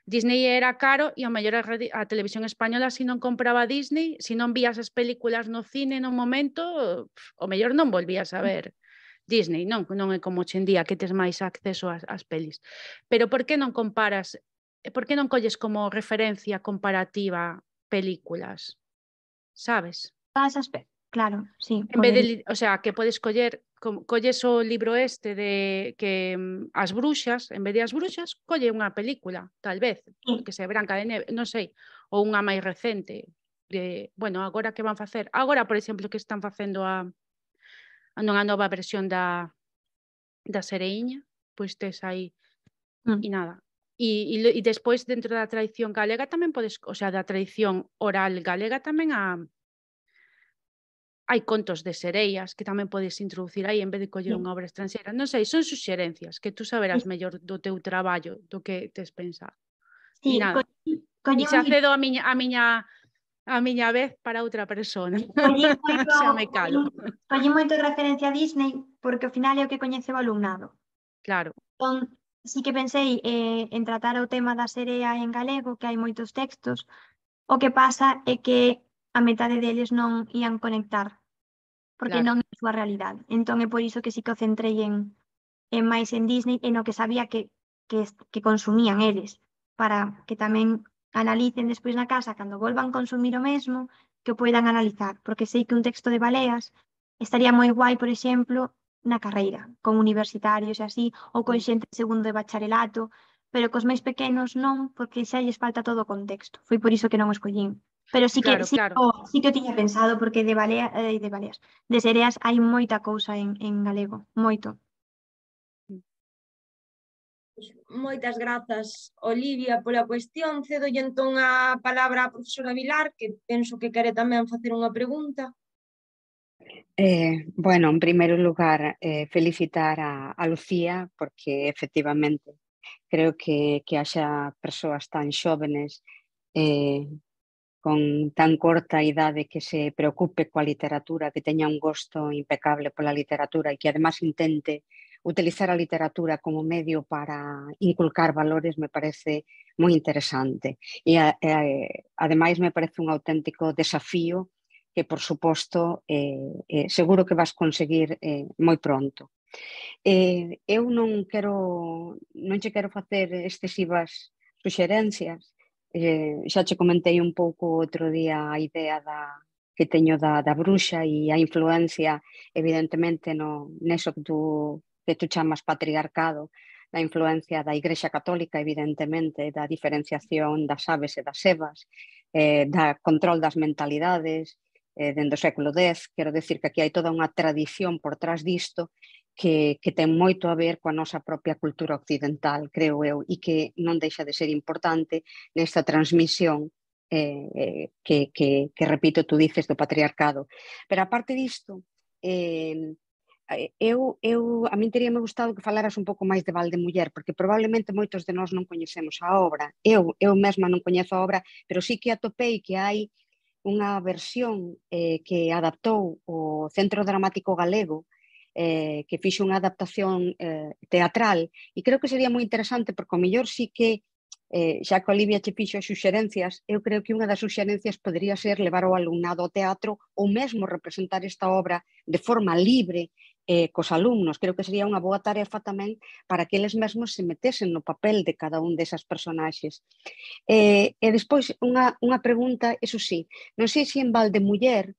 Disney era caro e ao mellor a televisión española se non compraba Disney, se non vías as películas no cine no momento, ao mellor non volvías a ver Disney, non é como hoxe en día que tes máis acceso ás pelis. Pero por que non comparas? Por que non colles como referencia comparativa películas? Sabes? Claro, sí. En vez de, que podes colles o libro este de que as bruxas, en vez de as bruxas, colle unha película, tal vez, que se Branca de Neve, non sei, ou unha máis recente, agora que van facer? Agora, por exemplo, que están facendo unha nova versión da Sereiña, pois tes aí, e nada. E despois, dentro da tradición galega, tamén podes, da tradición oral galega, tamén hai contos de sereias que tamén podes introducir aí en vez de coller unha obra estranxeira. Non sei, son suxerencias que tú saberás mellor do teu traballo do que tes pensado. E nada, e xa cedo a miña vez para outra persona. Xa me calo. Collí moito de referencia a Disney porque ao final é o que coñece o alumnado. Claro. Entón, sí que pensei en tratar o tema da serea en galego, que hai moitos textos. O que pasa é que a metade deles non ían conectar, porque non é a súa realidade. Entón é por iso que sí que o centrei en máis en Disney, e no que sabía que consumían eles, para que tamén analicen despois na casa, cando volvan consumir o mesmo, que o poidan analizar, porque sei que un texto de Baleas estaría moi guai, por exemplo, na carreira, con universitarios e así, ou con xente segundo de bacharelato, pero cos máis pequenos non, porque xa lles falta todo o contexto. Foi por iso que non o escollín. Pero sí que, Claro, claro. sí que o tiña pensado, porque de Baleas, de Sereas hai moita cousa en galego, moito. Moitas grazas, Olivia, pola cuestión. Cedolle entón a palabra á profesora Vilar, que penso que quere tamén facer unha pregunta. Bueno, en primeiro lugar, felicitar a Lucía, porque efectivamente creo que haxa persoas tan xóvenes con tan corta idade que se preocupe coa literatura, que teña un gosto impecable pola literatura e que además intente utilizar a literatura como medio para inculcar valores, me parece moi interesante. E ademais me parece un auténtico desafío que, por suposto, seguro que vas conseguir moi pronto. Eu non che quero facer excesivas suxerencias. Xa che comentei un pouco outro día a idea que teño da bruxa e a influencia, evidentemente, neso que tú chamas patriarcado, da influencia da Igrexa Católica, evidentemente, da diferenciación das aves e das evas, da control das mentalidades, dende o século X. Quero decir que aquí hai toda unha tradición por trás disto que ten moito a ver coa nosa propia cultura occidental, creo eu, e que non deixa de ser importante nesta transmisión que repito, tú dices do patriarcado. Pero aparte disto, a min teríame gustado que falaras un pouco máis de Valdemuller, porque probablemente moitos de nós non coñecemos a obra. Eu mesma non coñezo a obra, pero sí que atopei que hai unha versión que adaptou o Centro Dramático Galego, que fixo unha adaptación teatral, e creo que sería moi interesante, porque o mellor sí que, xa que Olivia che fixo as suxerencias, eu creo que unha das suxerencias podría ser levar o alumnado ao teatro ou mesmo representar esta obra de forma libre cos alumnos. Creo que sería unha boa tarefa tamén para que eles mesmos se metesen no papel de cada un desas personaxes. E despois, unha pregunta, eso sí, non sei se en Valdemuller,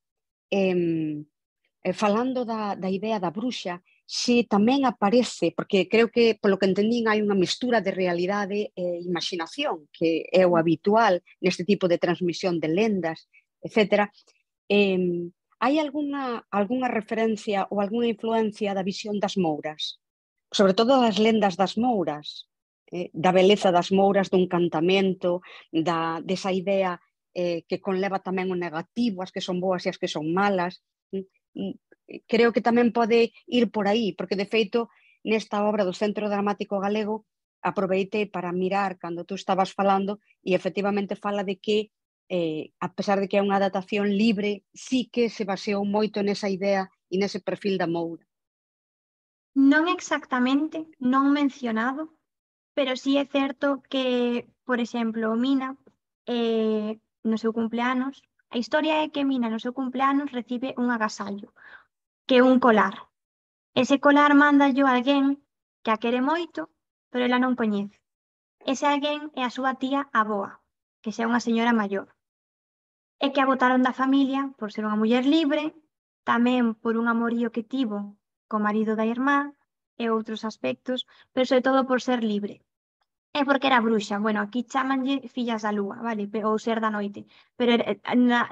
falando da idea da bruxa, se tamén aparece, porque creo que, polo que entendín, hai unha mistura de realidade e imaginación, que é o habitual neste tipo de transmisión de lendas, etc. Hai algunha referencia ou algunha influencia da visión das mouras? Sobre todo das lendas das mouras, da beleza das mouras, do encantamento, desa idea que conleva tamén o negativo, as que son boas e as que son malas. Creo que tamén pode ir por aí, porque de feito nesta obra do Centro Dramático Galego aproveitei para mirar cando tú estabas falando e efectivamente fala de que a pesar de que é unha adaptación libre, sí que se baseou moito nesa idea e nese perfil da moura. Non exactamente, non mencionado, pero sí é certo que, por exemplo, Mina, no seu cumpleanos, a historia é que Mina no seu cumpleanos recibe un agasallo, que é un colar. Ese colar mándalle alguén que a quere moito, pero ela non coñece. Ese alguén é a súa tía avoa, que xa é unha señora maior. E que a botaron da familia por ser unha muller libre, tamén por un amorío que tivo co marido da irmá e outros aspectos, pero sobre todo por ser libre. É porque era bruxa. Bueno, aquí chamanlle fillas da lúa, vale? Ou ser da noite. Pero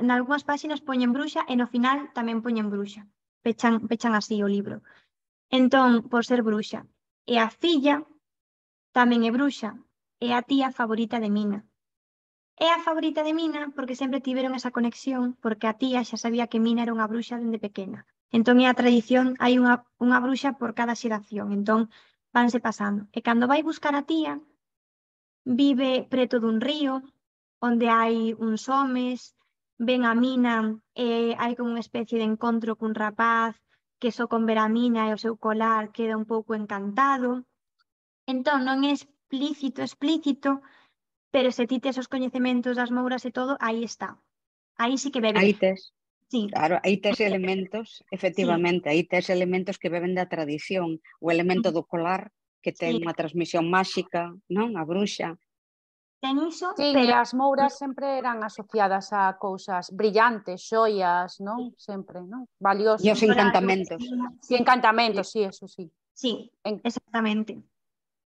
nalgúnas páxinas poñen bruxa e no final tamén poñen bruxa. Pechan así o libro. Entón, por ser bruxa. E a filla tamén é bruxa. É a tía favorita de Mina. É a favorita de Mina porque sempre tiveron esa conexión, porque a tía xa sabía que Mina era unha bruxa dende pequena. Entón é a tradición, hai unha bruxa por cada xeración. Entón, vanse pasando. E cando vai buscar a tía, vive preto dun río, onde hai uns homes, ven a Mina e hai como unha especie de encontro cun rapaz que só con ver a Mina e o seu colar queda un pouco encantado. Entón, non é explícito, pero se ti tes os coñecementos das mouras e todo, aí está. Aí sí que bebe. Aí tes, Sí. claro, aí tes elementos, efectivamente, aí tes elementos que beben da tradición. O elemento do colar, que ten unha transmisión máxica, non? A bruxa. Ten iso, Sí, pero e as mouras sempre eran asociadas a cousas brillantes, xoias, non? Sempre, non? Valiosos. E os encantamentos. Sí, encantamentos, sí, eso sí. Sí, exactamente.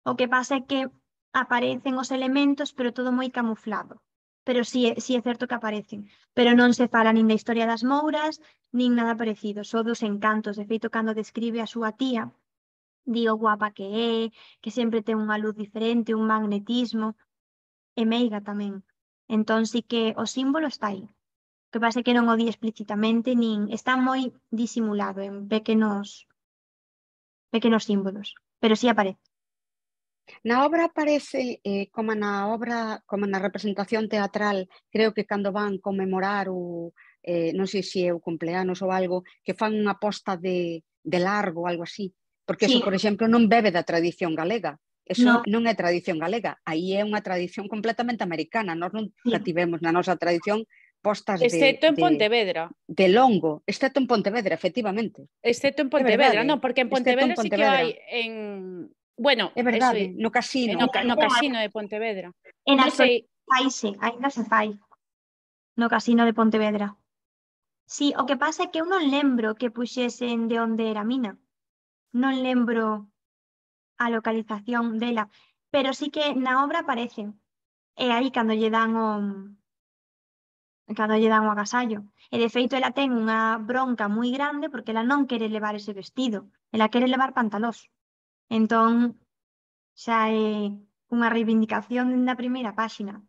O que pasa é que aparecen os elementos, pero todo moi camuflado. pero sí é certo que aparecen. Pero non se fala nin da historia das mouras, nin nada parecido, só dos encantos. De feito, cando describe a súa tía, di o guapa que é, que sempre ten unha luz diferente, un magnetismo, e meiga tamén. Entón sí que o símbolo está aí. O que pasa é que non o di explícitamente, nin está moi disimulado en pequenos símbolos, pero sí aparece. Na obra aparece, como na representación teatral, creo que cando van conmemorar non sei se é o cumpleanos ou algo, que fan unha posta de largo, algo así, porque eso, por exemplo, non bebe da tradición galega. Eso non é tradición galega, aí é unha tradición completamente americana. Nós nunca tivemos na nosa tradición postas excepto en Pontevedra. De longo, excepto en Pontevedra, efectivamente. Excepto en Pontevedra, non, porque en Pontevedra sí que hai en... Bueno, é verdade, no casino. No casino de Pontevedra. En non sei, ainda se fai. No casino de Pontevedra. Sí, o que pasa é que eu non lembro que puxesen de onde era a mina. Non lembro a localización dela, pero sí que na obra aparece. E aí cando lle dan o agasallo. E de feito ela ten unha bronca moi grande porque ela non quere levar ese vestido, ela quere levar pantalós. Entón, xa é unha reivindicación na primeira páxina.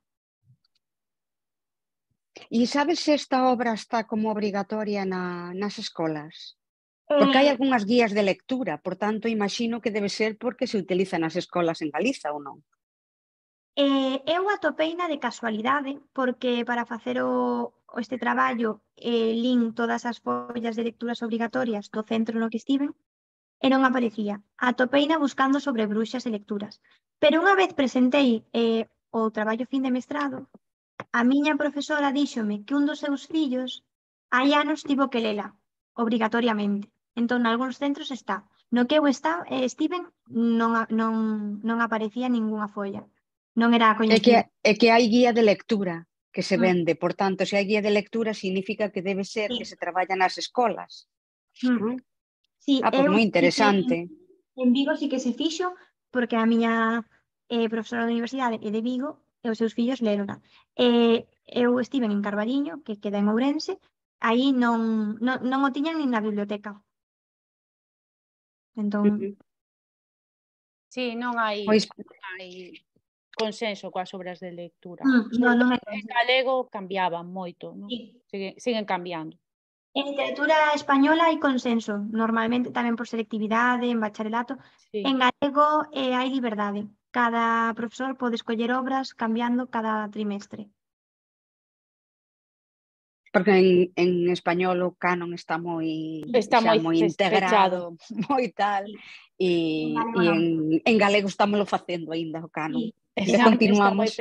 E sabes se esta obra está como obrigatoria nas escolas? Porque hai algunhas guías de lectura, por tanto, imagino que debe ser porque se utiliza nas escolas en Galiza ou non? Eu atopeina de casualidade, porque para facer este traballo lin todas as follas de lecturas obrigatorias do centro no que estiven e non aparecía. Atopeina buscando sobre bruxas e lecturas. Pero unha vez presentei o traballo fin de mestrado, a miña profesora díxome que un dos seus fillos hai anos tivo que lela, obrigatoriamente. Entón, nalgúns centros está. No que eu estiven non aparecía ningunha folla. Non era coñecido. É que hai guía de lectura que se vende, por tanto, se hai guía de lectura significa que debe ser que se traballa nas escolas. Sí, pois moi interesante. En Vigo sí que se fixo, porque a miña profesora da universidade é de Vigo e os seus fillos lerona. Eu estive en Carballiño, que queda en Ourense, aí non o tiñan nin na biblioteca. Entón... Sí, non hai consenso coas obras de lectura. Non é. En galego cambiaban moito, non? Siguen cambiando. En literatura española hai consenso, normalmente tamén por selectividade, en bacharelato. En galego hai liberdade. Cada profesor pode escoller obras cambiando cada trimestre. Porque en español o canon está moi integrado, moi tal, e en galego estámoslo facendo aínda o canon. Continuamos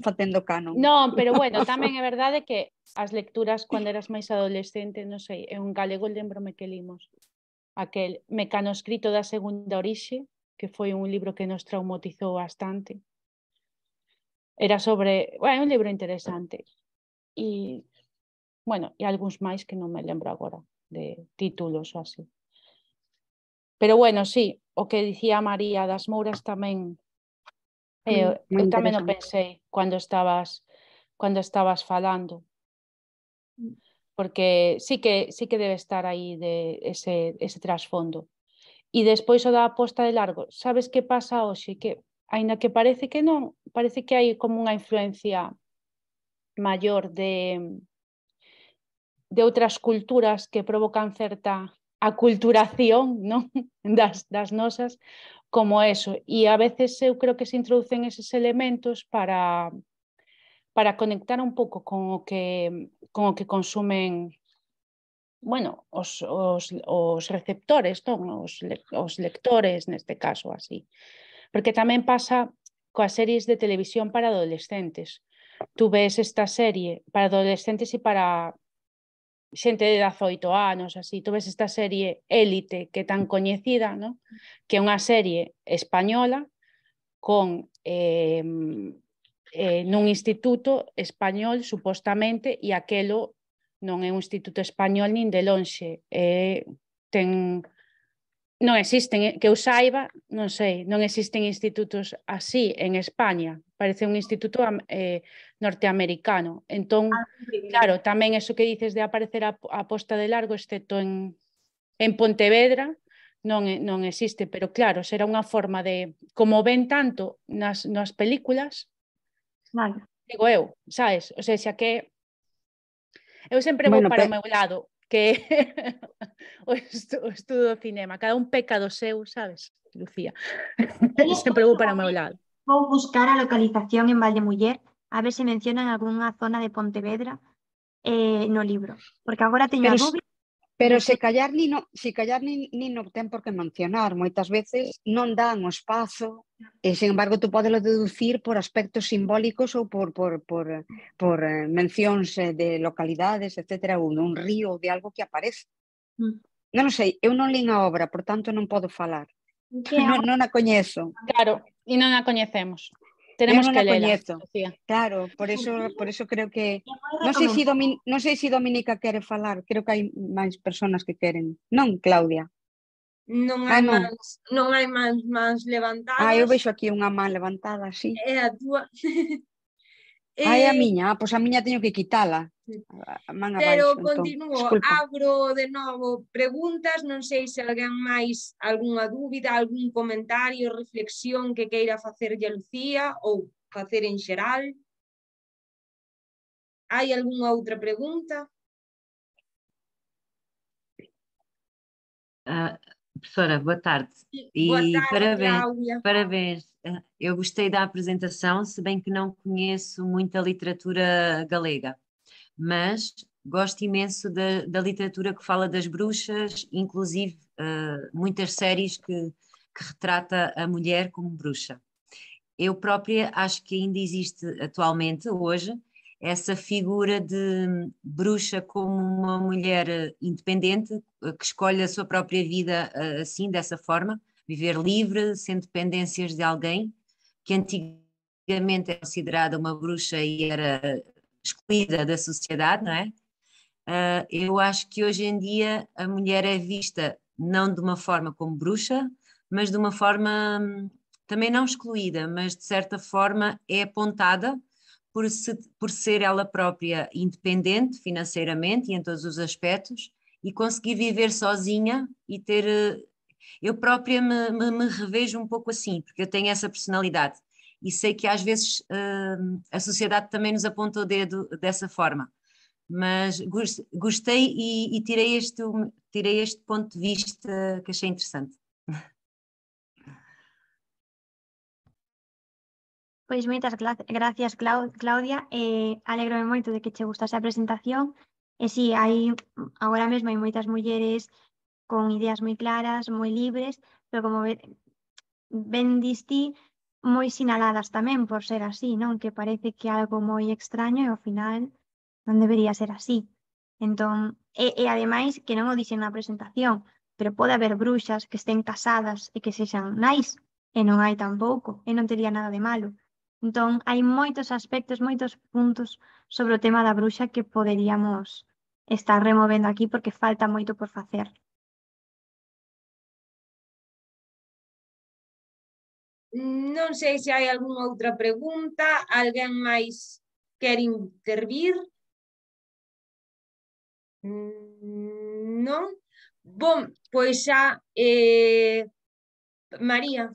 facendo canon. Non, pero bueno, tamén é verdade que as lecturas cando eras máis adolescente, non sei, en galego lembrome que limos aquel Mecanoscrito da segunda orixe, que foi un libro que nos traumatizou bastante. Era sobre, un libro interesante. E bueno, e algúns máis que non me lembro agora de títulos ou así. Pero bueno, sí, o que dicía María das Mouras tamén eu tamén o pensei cando estabas falando. Porque sí que debe estar aí ese trasfondo. E despois o da posta de largo, sabes que pasa hoxe? Que, aínda que parece que non, parece que hai como unha influencia maior de outras culturas que provocan certa aculturación, non? das nosas, como eso. E a veces eu creo que se introducen eses elementos para conectar un pouco con o que consumen, os receptores, non? Os lectores, neste caso, así. Porque tamén pasa coas series de televisión para adolescentes. Tú ves esta serie para adolescentes e para xente de 18 anos, así. Tú ves esta serie Élite, que é tan coñecida, non? Que é unha serie española con nun instituto español, supostamente, e aquelo non é un instituto español nin de lonxe. Non existen, que eu saiba, non sei, non existen institutos así en España. Parece un instituto norteamericano. Entón, claro, tamén eso que dices de aparecer a posta de largo, excepto en Pontevedra, non existe, pero claro, será unha forma de, como ven tanto nas películas, Claro. digo eu, sabes? O sea, que eu sempre vou Bueno, para o meu lado, que o estudo do cinema, cada un peca do seu, sabes, Lucía? Sempre vou para o meu lado. Vou buscar a localización en Valdemuller, a ver se mencionan algunha zona de Pontevedra no libro, porque agora teño a dúbida. Pero se callar nin o ten por que mencionar. Moitas veces non dan o espazo e, sin embargo, tú podelo deducir por aspectos simbólicos ou por mencións de localidades, etcétera, ou dun río ou de algo que aparece. Non sei, eu non lín a obra, por tanto non podo falar. Non a coñezo. Claro, e non a coñecemos. Tenemos que lela. Claro, por eso creo que non sei se Dominica quere falar, creo que hai máis persoas que queren. Non, Claudia. Non hai máis levantadas. Eu vexo aquí unha man levantada, así. É a túa. A miña, pois a miña teño que quitala. Pero continuo, abro de novo preguntas, non sei se alguén máis algunha dúbida, algún comentario, reflexión que queira facerlle a Lucía ou facer en xeral. Hai algunha outra pregunta? Professora, boa tarde. Boa tarde, Cláudia. Parabéns. Eu gostei da apresentação, se bem que não conheço muita literatura galega, mas gosto imenso da literatura que fala das bruxas, inclusive muitas séries que retrata a mulher como bruxa. Eu própria acho que ainda existe atualmente, hoje, essa figura de bruxa como uma mulher independente, que escolhe a sua própria vida assim, dessa forma, viver livre, sem dependências de alguém, que antigamente era considerada uma bruxa e era excluída da sociedade, não é? Eu acho que hoje em dia a mulher é vista não de uma forma como bruxa, mas de uma forma também não excluída, mas de certa forma é apontada por ser ela própria independente financeiramente e em todos os aspectos e conseguir viver sozinha e ter... Eu própria me revejo um pouco assim, porque eu tenho essa personalidade e sei que às vezes a sociedade também nos aponta o dedo dessa forma. Mas gostei e tirei este ponto de vista que achei interessante. Pois moitas gracias, Claudia. Alégrome moito de que che gustase a presentación. E si, agora mesmo hai moitas mulleres con ideas moi claras, moi libres, pero como ben diste, moi sinaladas tamén por ser así, non? Que parece que é algo moi extraño e ao final non debería ser así. Entón, e ademais que non o dixen na presentación, pero pode haber bruxas que estén casadas e que sexan nais, e non hai tampouco, e non tería nada de malo. Entón, hai moitos aspectos, moitos puntos sobre o tema da bruxa que poderíamos estar removendo aquí porque falta moito por facer. Non sei se hai algunha outra pregunta, alguén máis quer intervir? Non? Bom, pois xa, María.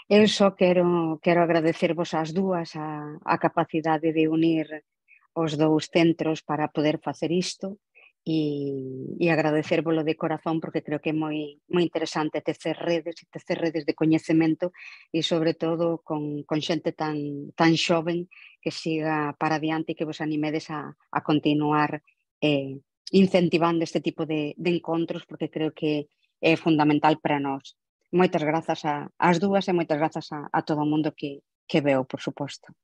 Eu só quero agradecervos ás dúas a capacidade de unir os dous centros para poder facer isto e agradecérvolo de corazón porque creo que é moi interesante tecer redes de coñecemento e sobre todo con xente tan xoven que siga para adiante e que vos animedes a continuar incentivando este tipo de encontros porque creo que é fundamental para nós. Moitas grazas ás dúas e moitas grazas a todo o mundo que veo, por suposto.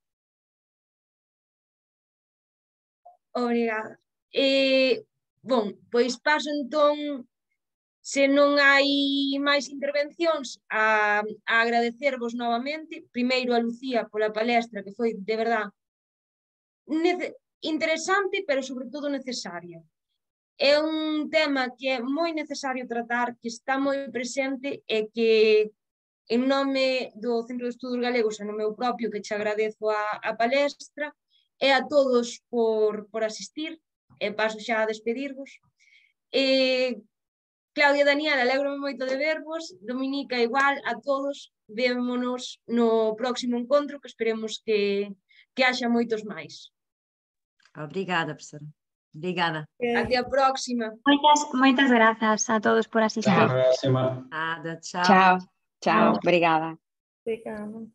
Obrigada. Bom, pois paso entón, se non hai máis intervencións, a agradecervos novamente, primeiro a Lucía pola palestra, que foi de verdad interesante, pero sobre todo necesaria. É un tema que é moi necesario tratar, que está moi presente e que en nome do Centro de Estudos Galegos e no meu propio, que che agradezo a palestra, e a todos por asistir, e paso xa a despedirvos. Claudia, Daniel, alegro-me moito de vervos, Dominica igual, a todos, vémonos no próximo encontro, que esperemos que haxa moitos máis. Obrigada, professora. Obrigada. Até a próxima. Moitas grazas a todos por asistir. Até a próxima. Nada, tchau. Tchau, tchau, obrigada. Obrigada.